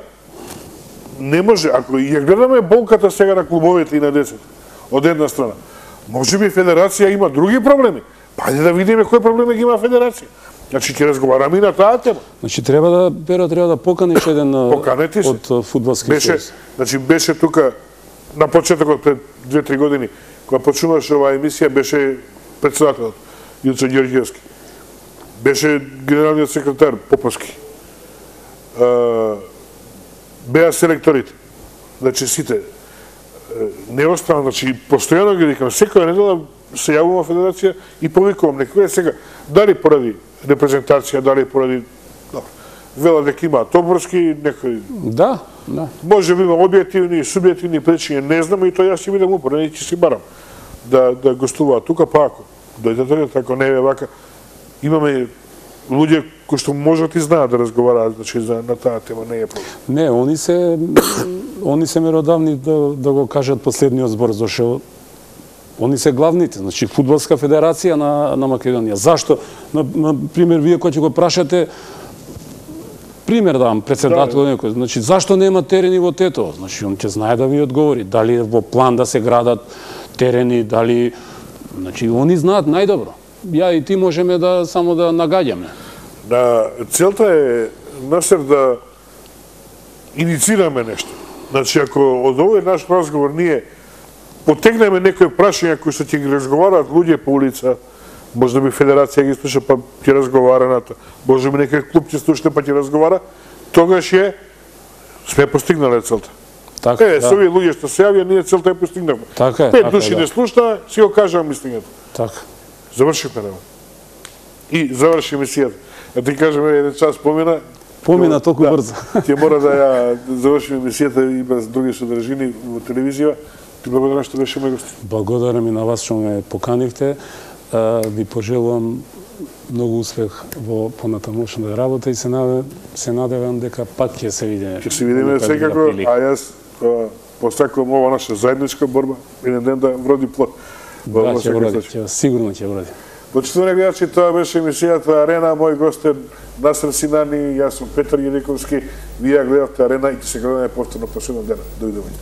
не може, ако ја гледаме болката сега на клубовите и на децата, од една страна, може би федерација има други проблеми. Па да видиме кои проблеми ги има федерација. Значи ќе разговараме и на таа тема. Значи треба да поканиш еден од фудбалски сојуз. Значи беше тука на почетокот пред 2-3 години кога почнуваше оваа емисија, беше претседателот Јуцо Ѓорѓиевски. Беше генералниот секретар Поповски. Беа селекторите. Значи сите не остана, значи постојано ги викам, секоја недела се јавувам во федерација и повикувам некој сега, дали поради репрезентација, дали поради вела дека има Тоборски, некој. Да. Може би има објективни и субјективни причини, не знам, и тоа јас ќе бидам упорен и ќе си барам да гостуваат тука, па ако дојдат, ако не е вака, имаме луѓе кои што можат и знаат да разговараат, значи на таа тема не е проблем. Не, они се меродавни да го кажат последниот збор, зашто они се главните, значи фудбалска федерација на Македонија. Зашто, на пример, вие кој ќе го прашате, пример давам, председател некој, значи зашто нема терени во Тетово? Значи он ќе знае да ви одговори, дали во план да се градат терени, дали, значи они знаат најдобро. Ја и ти можеме само да нагаѓаме. Целта е Насер да иницираме нешто. Значи ако од овој наш разговор ние потегнеме некои прашања кои што ќе ги разговараат луѓе по улица, може би федерација ги слуша па ќе разговара на тоа, може би некој клуб ќе слуша па ќе разговара, тогаш сме постигнале целта. Така, со овие луѓе што се јавија, ние целта ја постигнавме. 5 души не слушна, си го кажам мислењето. Така. Завршивме работа. И заврши емисијата. Да ти кажем, еден час помина. Помина толку брзо. Ќе мора да ја завршиме емисијата и без други содржини во телевизија. Ти благодарам што беше мој гост. Благодарам и на вас што ме поканивте. Ви пожелувам многу успех во понатамошната работа и се надевам дека пак ќе се видиме. Ќе се видиме секако, а јас посакувам ова наша заедничка борба еден ден да вроди плод. Да, ќе вроди, сигурно ќе вроди. Почитувани гледачи, тоа беше емисијата Арена, мој гост е Насер Синани, јас сум Петар Јеликовски, вие гледавте Арена и ќе се гледаме повторно последен ден. Довидување.